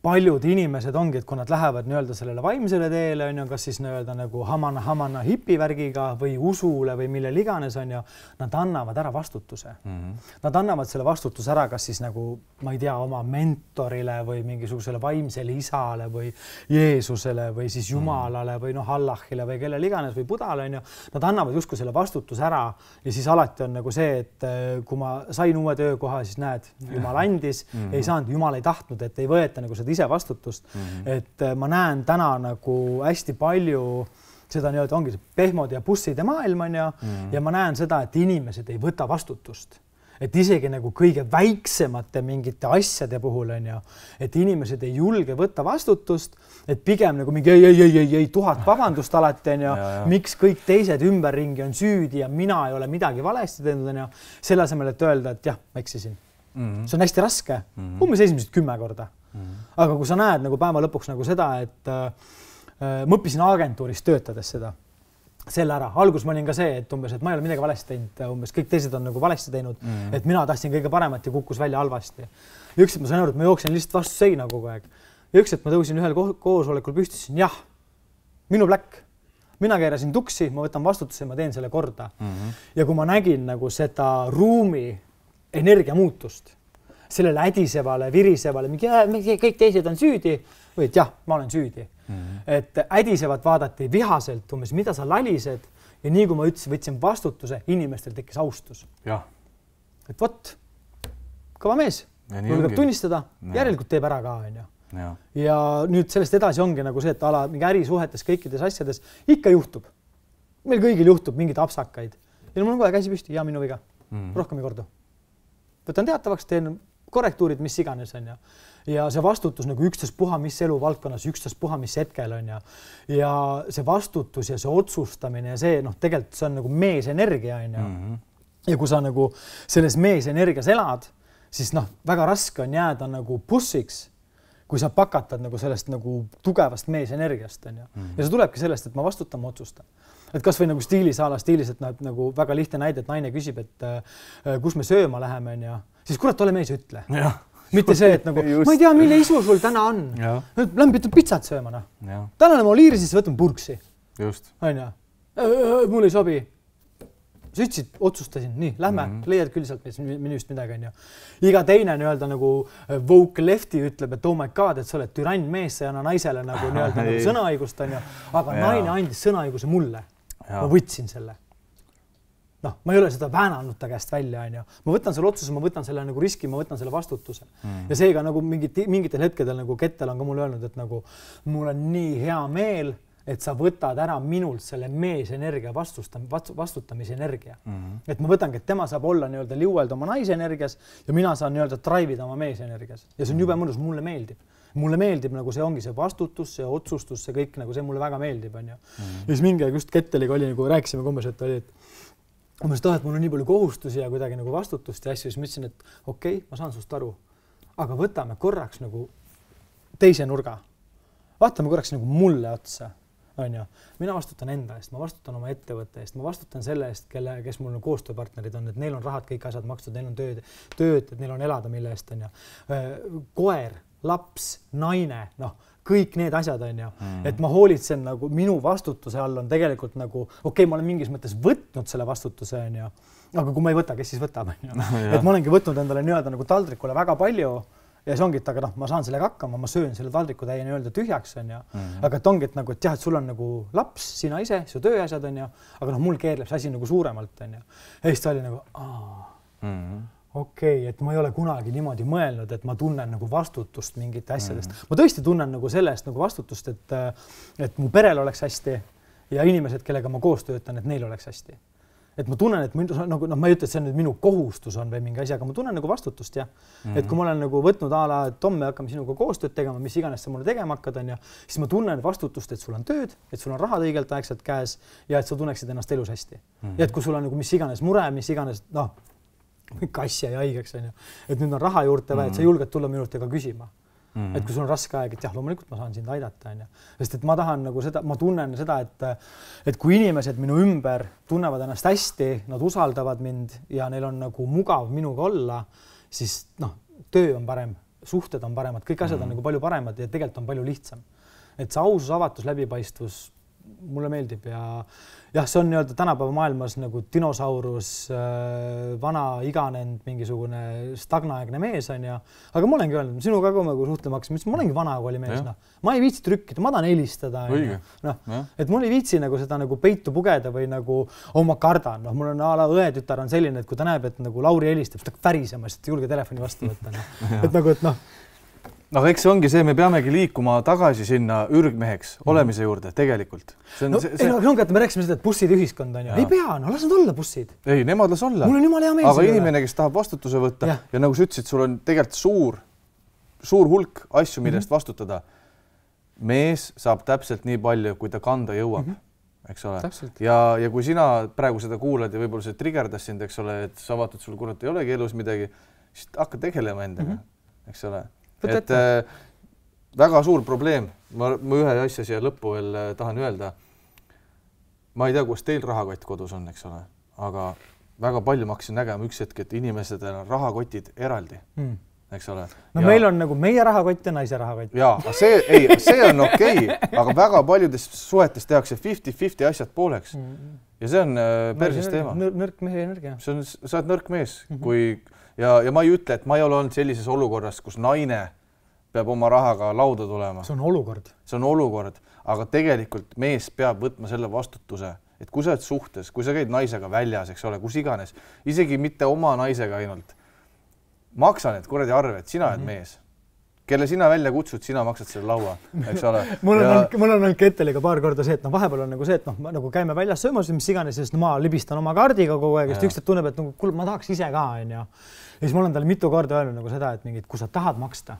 paljud inimesed ongi, et kui nad lähevad nii-öelda sellele vaimsele teele, on ju, kas siis nii-öelda nagu hamana, hamana hipivärgiga või usule või mille iganes, on ju, nad annavad ära vastutuse. Mm-hmm. Nad annavad selle vastutuse ära, kas siis nagu, ma ei tea, oma mentorile või mingisugusele vaimsele isale või Jeesusele või siis Jumalale või noh, Allahile või kellele iganes või Budale, on ju. Nad annavad justkui selle vastutuse ära ja siis alati on nagu see, et kui ma sain uue töökoha, siis näed, Jumal andis, mm-hmm. ei saanud, Jumal ei tahtnud, et ei võeta nagu seda ise vastutust, mm-hmm. et ma näen täna nagu hästi palju seda nii-öelda ongi pehmod ja busside maailm on ja, mm-hmm. ja ma näen seda, et inimesed ei võta vastutust. Et isegi nagu kõige väiksemate mingite asjade puhul on ja, et inimesed ei julge võtta vastutust, et pigem nagu mingi ei, ei, ei, ei, ei tuhat vabandust alati on ja, ja, ja miks kõik teised ümberringi on süüdi ja mina ei ole midagi valesti teinud on ja selle asemel, et öelda, et jah, ma eksisin. Mm-hmm. See on hästi raske, mm-hmm. umbes esimesed kümme korda. Mm-hmm. Aga kui sa näed nagu päeva lõpuks nagu seda, et äh, ma õppisin agentuuris töötades seda, selle ära. Algus ma olin ka see, et umbes, et ma ei ole midagi valesti teinud, umbes kõik teised on nagu valesti teinud, mm. et mina tahtsin kõige paremat ja kukkus välja halvasti. Ja üks, et ma sain aru, et ma jooksin lihtsalt vastu seina kogu aeg. Ja üks, et ma tõusin ühel koosolekul püstisin, jah, minu pläkk. Mina keerasin tuksi, ma võtan vastutuse ja ma teen selle korda. Mm-hmm. Ja kui ma nägin nagu seda ruumi energia muutust, sellele ädisevale, virisevale, mingi kõik teised on süüdi, või et jah, ma olen süüdi. Mm-hmm. Et ädisevat vaadati vihaselt, umbes, mida sa lalised ja nii kui ma ütlesin, võtsin vastutuse, inimestel tekkis austus. Ja. Et võt, kõva mees, mul peab tunnistada, ja. Järelikult teeb ära ka, on ju. Ja. ja nüüd sellest edasi ongi nagu see, et ala mingi ärisuhetes kõikides asjades ikka juhtub. Meil kõigil juhtub mingid apsakaid. Ja mul on kohe käsi püsti, ja minu viga. Mm. Rohkem ei kordu. Võtan teatavaks, teen korrektuurid, mis iganes on ja. Ja see vastutus nagu ükstas puha, mis elu valdkonnas, ükstas puha, mis hetkel on ja. Ja see vastutus ja see otsustamine ja see, noh, tegelikult see on nagu meesenergia on ja. Mm-hmm. Ja kui sa nagu selles meesenergias elad, siis noh, väga raske on jääda nagu bussiks, kui sa pakatad nagu sellest nagu tugevast meesenergiast on ja. Mm-hmm. Ja see tulebki sellest, et ma vastutan, ma otsustan. Et kas või nagu stiilisaala stiilis, et nagu väga lihtne näide, et naine küsib, et äh, kus me sööma läheme on ja. Siis kurat, ole mees, ütle. Ja. Mitte see, et nagu, ma ei tea, mille isu sul täna on. Lämbi ütleb pitsat sööma. No. Tänane ma liirisis võtan purksi. Just. On ja. Mul ei sobi. Sa ütlesid, otsustasin, nii, lähme, mm-hmm. leiad küll sealt minust midagi on ju. Iga teine nii-öelda nagu woke lefti ütleb, et oh my god, et sa oled türann mees, sa ei anna naisele nagu nii-öelda nagu sõnaõigust on ju. Aga ja. Naine andis sõnaõiguse mulle. Ja. Ma võtsin selle. Noh, ma ei ole seda väänanud ta käest välja on ju. Ma võtan selle otsuse, ma võtan selle nagu riski, ma võtan selle vastutuse. Mm. Ja seega nagu mingit, mingitel hetkedel nagu Kettel on ka mulle öelnud, et nagu mul on nii hea meel, et sa võtad ära minult selle meesenergia vastustam, vastutamise energia. Mm-hmm. Et ma võtangi, et tema saab olla nii-öelda liuelda oma naise energias ja mina saan nii-öelda traivida oma meesenergias. Ja see on jube mõnus, mulle meeldib. Mulle meeldib nagu see ongi see vastutus, see otsustus, see kõik nagu see mulle väga meeldib. On ju. Mm-hmm. Ja siis mingi just Ketteliga oli nagu rääkisime kumbes, et oli, et umbes taha, et mul on nii palju kohustusi ja kuidagi nagu vastutust ja asju, siis ma ütlesin, et okei, okay, ma saan sust aru, aga võtame korraks nagu teise nurga. Vaatame korraks nagu mulle otsa. On ju. Mina vastutan enda eest, ma vastutan oma ettevõtte eest, ma vastutan selle eest, kelle, kes mul on koostööpartnerid on, et neil on rahad, kõik asjad makstud, neil on tööd, tööd, et neil on elada, mille eest on ju. Koer, laps, naine, noh, kõik need asjad on ju. Mm. Et ma hoolitsen nagu minu vastutuse all on tegelikult nagu, okei, okay, ma olen mingis mõttes võtnud selle vastutuse on ju, aga kui ma ei võta, kes siis võtab on ju. Et ma olengi võtnud endale nii-öelda nagu taldrikule väga palju. Ja see ongi, et aga noh, ma saan sellega hakkama, ma söön selle taldriku täie nii-öelda tühjaks on ju. Mm-hmm. Aga et ongi, et nagu, et jah, et sul on nagu laps, sina ise, su tööasjad on ju, aga noh, mul keerleb see asi nagu suuremalt on ju. Ja siis ta oli nagu, aa, mm-hmm. okei, okay, et ma ei ole kunagi niimoodi mõelnud, et ma tunnen nagu vastutust mingite asjadest. Mm-hmm. Ma tõesti tunnen nagu sellest nagu vastutust, et, et mu perel oleks hästi ja inimesed, kellega ma koos töötan, et neil oleks hästi. Et ma tunnen, et minu, nagu, no, ma ei ütle, et see on nüüd minu kohustus on või mingi asi, aga ma tunnen nagu vastutust ja. Mm-hmm. Et kui ma olen nagu võtnud ala, et Tom, me hakkame sinuga koostööd tegema, mis iganes sa mulle tegema hakkad on ja, siis ma tunnen vastutust, et sul on tööd, et sul on rahad õigelt aegselt käes ja et sa tunneksid ennast elus hästi. Mm-hmm. Ja et kui sul on nagu mis iganes mure, mis iganes, noh, kassi ja haigeks on ju, et nüüd on raha juurde või, et sa julged tulla minu juurde ka küsima. Mm-hmm. Et kui sul on raske aeg, et jah, loomulikult ma saan sind aidata on ju. Sest et ma tahan nagu seda, ma tunnen seda, et, et kui inimesed minu ümber tunnevad ennast hästi, nad usaldavad mind ja neil on nagu mugav minuga olla, siis noh, töö on parem, suhted on paremad, kõik asjad mm-hmm. on nagu palju paremad ja tegelikult on palju lihtsam. Et see ausus, avatus, läbipaistvus mulle meeldib ja jah, see on nii-öelda tänapäeva maailmas nagu dinosaurus, vana iganenud mingisugune stagnaaegne mees on ja, aga ma olengi öelnud, sinuga ka nagu suhtlema hakkasin, ma olengi vana kooli mees, noh. Ma ei viitsi trükkida, ma tahan helistada. No, et mul ei viitsi nagu seda nagu peitu pugeda või nagu oma kardan. No, mul on ala õetütar on selline, et kui ta näeb, et nagu Lauri helistab, siis ta värisema, sest julge telefoni vastu võtta. No. Et nagu, et noh, Aga eks see ongi see, me peamegi liikuma tagasi sinna ürgmeheks olemise juurde tegelikult. See on, no, see, see... Ei, no, ongi, et me rääkisime seda, et bussid ühiskond on ju. Ei pea, no las nad olla bussid. Ei, nemad las olla. Mul on jumala hea meel. Aga inimene, kes tahab vastutuse võtta ja, ja nagu sa ütlesid, sul on tegelikult suur, suur hulk asju, millest mm-hmm. vastutada. Mees saab täpselt nii palju, kui ta kanda jõuab. Mm-hmm. Eks ole. Täpselt. Ja, ja kui sina praegu seda kuulad ja võib-olla see triggerdas sind, eks ole, et sa vaatad, sul kurat ei olegi elus midagi, siis hakka tegelema endaga, mm-hmm. eks ole. Et äh, väga suur probleem, ma, ma ühe asja siia lõppu veel tahan öelda. ma ei tea, kus teil rahakott kodus on, eks ole, aga väga palju ma hakkasin nägema üks hetk, et inimesed on rahakotid eraldi, mm. eks ole. No ja... meil on nagu meie rahakott ja naise rahakott. Jaa, see, ei, see on okei, okay, aga väga paljudes suhetes tehakse viiskümmend viiskümmend asjad pooleks. Mm. Ja see on persis teema. Nõrk mehe energia. See on, sa oled nõrk mees, mm-hmm. kui, ja, ja ma ei ütle, et ma ei ole olnud sellises olukorras, kus naine peab oma rahaga lauda tulema. See on olukord. See on olukord, aga tegelikult mees peab võtma selle vastutuse, et kui sa oled suhtes, kui sa käid naisega väljas, eks ole, kus iganes, isegi mitte oma naisega ainult, maksa need kuradi arved, sina oled mm-hmm. mees. Kelle sina välja kutsud, sina maksad selle laua, eks ole. mul on, ja... mul on olnud Ketteliga paar korda see, et no vahepeal on nagu see, et noh, nagu käime väljas söömas, mis iganes, sest no, ma libistan oma kaardiga kogu aeg, sest üksteid tunneb, et nagu, kuule, ma tahaks ise ka, on ju. Ja siis mul on talle mitu korda öelnud nagu seda, et mingid, kui sa tahad maksta,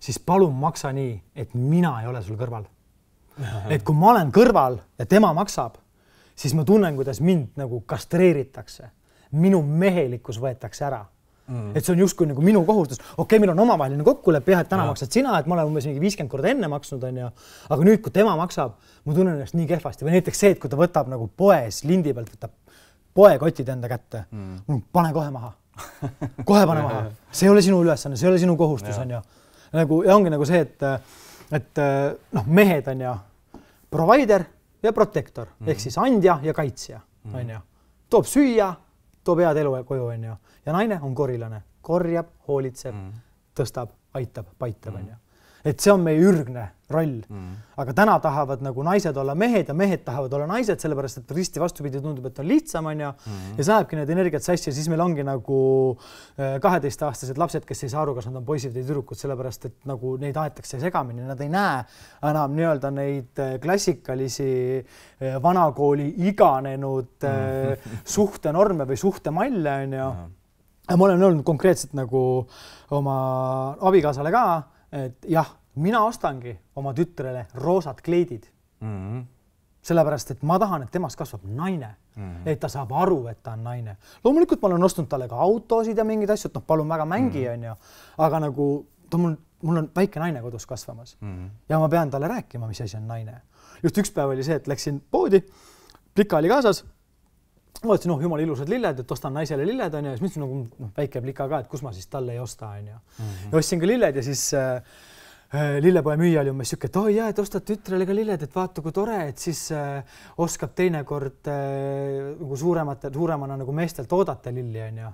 siis palun maksa nii, et mina ei ole sul kõrval. Et kui ma olen kõrval ja tema maksab, siis ma tunnen, kuidas mind nagu kastreeritakse. Minu mehelikkus võetakse ära. Mm. Et see on justkui nagu minu kohustus. Okei, okay, meil on omavaheline kokkulepe, jah, et täna ja. Maksad sina, et ma olen umbes mingi viiskümmend korda enne maksnud, on ju. Aga nüüd, kui tema maksab, ma tunnen ennast nii kehvasti. Või näiteks see, et kui ta võtab nagu poes lindi pealt, võtab poekotid enda kätte, mm. pane kohe maha. Kohe pane maha. See ei ole sinu ülesanne, see ei ole sinu kohustus, on ju. Nagu, ja ongi nagu see, et, et noh, mehed on ju provider ja protektor, mm. ehk siis andja ja kaitsja, mm. on ju. Toob süüa, toob head elu koju, on ju. Ja naine on korilane, korjab, hoolitseb, mm. tõstab, aitab, paitab, mm. on ju. Et see on meie ürgne roll. Mm. Aga täna tahavad nagu naised olla mehed ja mehed tahavad olla naised, sellepärast, et risti vastupidi tundub, et on lihtsam, on ju. Mm. Ja saabki need energiat sassi ja siis meil ongi nagu kaheteistaastased lapsed, kes ei saa aru, kas nad on poisid või tüdrukud, sellepärast, et nagu neid aetakse segamini. Nad ei näe enam nii-öelda neid klassikalisi vanakooli iganenud mm. suhtenorme või suhtemalle, on ju. Mm. Ja ma olen olnud konkreetselt nagu oma abikaasale ka, et jah, mina ostangi oma tütrele roosad kleidid. Mm-hmm. Sellepärast, et ma tahan, et temast kasvab naine. Mm-hmm. Et ta saab aru, et ta on naine. Loomulikult ma olen ostnud talle ka autosid ja mingid asjad, noh, palun väga mängi, mm-hmm. on ju. Aga nagu ta mul, mul on väike naine kodus kasvamas. Mm-hmm. Ja ma pean talle rääkima, mis asi on naine. Just üks päev oli see, et läksin poodi, plika oli kaasas. Ma ütlesin, noh, jumala ilusad lilled, et ostan naisele lilled, on ju, ja siis mõtlesin, nagu noh, väike plika ka, et kus ma siis talle ei osta, on ju. Mm-hmm. Ja ostsin ka lilled ja siis äh, lillepoe müüja oli umbes siuke, et oi jah, et ostad tütrele ka lilled, et vaata, kui tore, et siis äh, oskab teinekord äh, nagu suuremate, suuremana nagu meestelt oodata lilli, on ju.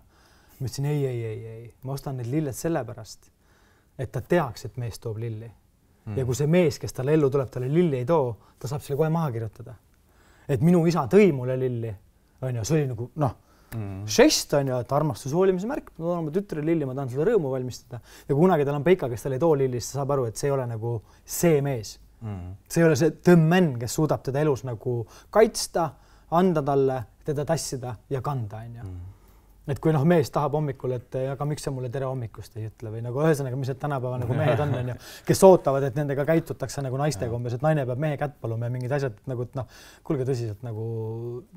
Ma ütlesin, ei, ei, ei, ei, ma ostan need lilled sellepärast, et ta teaks, et mees toob lilli. Mm-hmm. Ja kui see mees, kes talle ellu tuleb, talle lilli ei too, ta saab selle kohe maha kirjutada. Et minu isa tõi mulle lilli, on ju, see oli nagu, noh, mm. žest on ju, et armastus hoolimise märk, ma tahan oma tütre lilli, ma tahan seda rõõmu valmistada. Ja kunagi tal on Peika, kes tal ei too lilli, siis ta saab aru, et see ei ole nagu see mees. Mm. See ei ole see tõmmen, kes suudab teda elus nagu kaitsta, anda talle, teda tassida ja kanda, on ju. Mm. Et kui noh, mees tahab hommikul, et aga miks sa mulle tere hommikust ei ütle või nagu ühesõnaga, mis need tänapäeva nagu mehed on, on ju, kes ootavad, et nendega käitutakse nagu naistega umbes, et naine peab mehe kätt paluma ja mingid asjad nagu, et noh, kulge tõsiselt nagu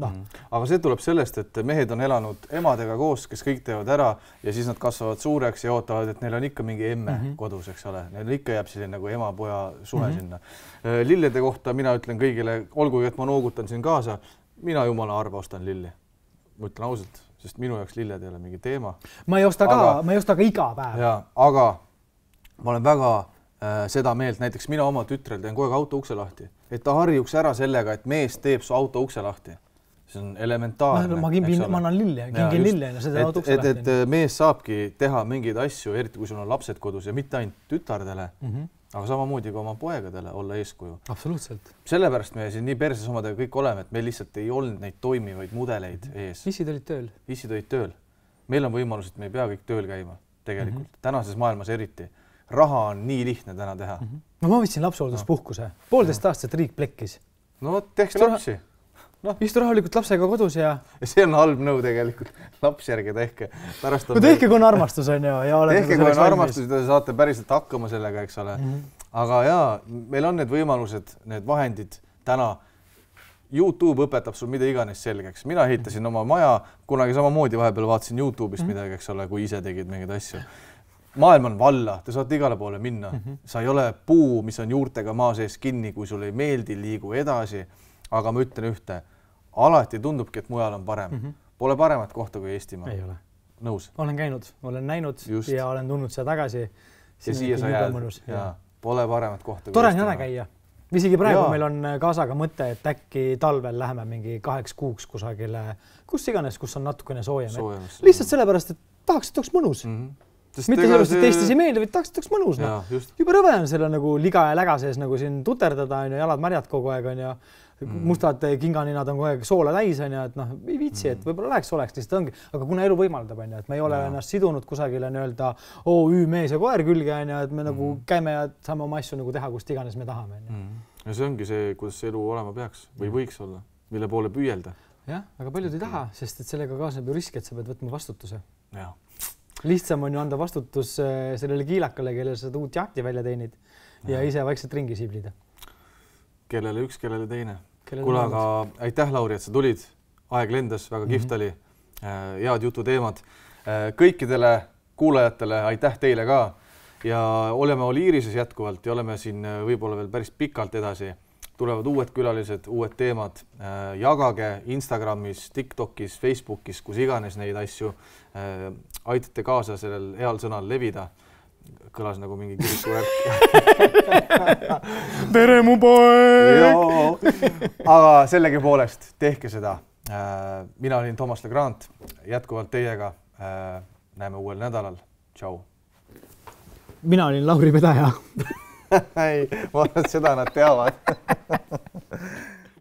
noh. Mm. Aga see tuleb sellest, et mehed on elanud emadega koos, kes kõik teevad ära ja siis nad kasvavad suureks ja ootavad, et neil on ikka mingi emme mm -hmm. kodus, eks ole. Neil ikka jääb selline nagu ema-poja suhe mm -hmm. sinna. Lillede kohta mina ütlen kõigile, olgugi, et ma noogutan siin kaasa, mina jumala harva ostan lilli. Ma ütlen ausalt, sest minu jaoks lilled ei ole mingi teema. Ma ei osta ka, aga, ma ei osta ka iga päev. Ja, aga ma olen väga äh, seda meelt, näiteks mina oma tütrel teen kogu aeg auto ukse lahti, et ta harjuks ära sellega, et mees teeb su auto ukse lahti. See on elementaarne. Ma, ma, ma annan lille, kingin lille ja seda auto ukse et, lahti. Et, et mees saabki teha mingeid asju, eriti kui sul on lapsed kodus ja mitte ainult tütardele, mm -hmm. aga samamoodi ka oma poegadele olla eeskuju. Absoluutselt. Sellepärast me siin nii perses omadega kõik oleme, et meil lihtsalt ei olnud neid toimivaid mudeleid ees. Issid olid tööl. Issid olid tööl. Meil on võimalus, et me ei pea kõik tööl käima tegelikult. Mm -hmm. Tänases maailmas eriti. Raha on nii lihtne täna teha. Mm -hmm. No ma võtsin lapsehoolduspuhkuse. Poolteist no. aastat riik plekkis. No tehke lapsi. No, istu rahulikult lapsega kodus ja... ja see on halb nõu tegelikult. Laps järgi tehke. Pärast on no tehke, kui on armastus, on ju. Ja tehke, kui on armastus, ja te saate päriselt hakkama sellega, eks ole. Mm -hmm. Aga jaa, meil on need võimalused, need vahendid täna. YouTube õpetab sul mida iganes selgeks. Mina ehitasin mm -hmm. oma maja, kunagi samamoodi vahepeal vaatasin YouTube'ist mm -hmm. midagi, eks ole, kui ise tegid mingeid asju. Maailm on valla, te saate igale poole minna. Mm -hmm. Sa ei ole puu, mis on juurtega maa sees kinni, kui sul ei meeldi, liigu edasi. aga ma ütlen ühte, alati tundubki, et mujal on parem. Mm -hmm. Pole paremat kohta kui Eestimaa. Ei ole. Nõus? Olen käinud, olen näinud Just. ja olen tulnud siia tagasi. Ja siia sa jääd. Ja. Pole paremat kohta kui Tore on jäne käia. Isegi praegu ja. Meil on kaasaga mõte, et äkki talvel läheme mingi kaheks kuuks kusagile, kus iganes, kus on natukene soojem. Lihtsalt sellepärast, et tahaks, et oleks mõnus. Mm -hmm. Sest mitte sellest, et Eestis ei meeldi, vaid tahaks, et oleks mõnus. No. Juba rõve on selle nagu liga ja läga sees nagu siin tuterdada, on ju, jalad märjad kogu aeg on ja mm. mustad kinganinad on kogu aeg soola täis on ja et noh, ei viitsi, et võib-olla läheks oleks, lihtsalt ongi, aga kuna elu võimaldab on ju, et me ei ole ja. Ennast sidunud kusagile nii-öelda O Ü mees ja koer külge on ja et me mm. nagu käime ja saame oma asju nagu teha, kust iganes me tahame. Mm. Ja see ongi see, kuidas elu olema peaks või võiks olla, mille poole püüelda. Jah, aga paljud ei taha, sest et sellega kaasneb ju risk, et sa pead võtma vastutuse. Ja. Lihtsam on ju anda vastutus sellele kiilakale, kellele sa uut jahti välja teenid ja, ja ise vaikselt ringi siblida. Kellele üks, kellele teine. Kuule, aga aitäh, Lauri, et sa tulid. Aeg lendas, väga kihvt oli. Head jututeemad. Kõikidele kuulajatele aitäh teile ka. Ja oleme Oliirises jätkuvalt ja oleme siin võib-olla veel päris pikalt edasi. Tulevad uued külalised, uued teemad. Jagage Instagramis, TikTokis, Facebookis, kus iganes neid asju. Aitate kaasa sellel heal sõnal levida. Kõlas nagu mingi kirikuvärk. Tere mu poeg! Aga sellegi poolest tehke seda. Mina olin Toomas Legrand, jätkuvalt teiega. Näeme uuel nädalal. Tšau. Mina olin Lauri Pedaja. Ei, ma arvan, et seda nad teavad.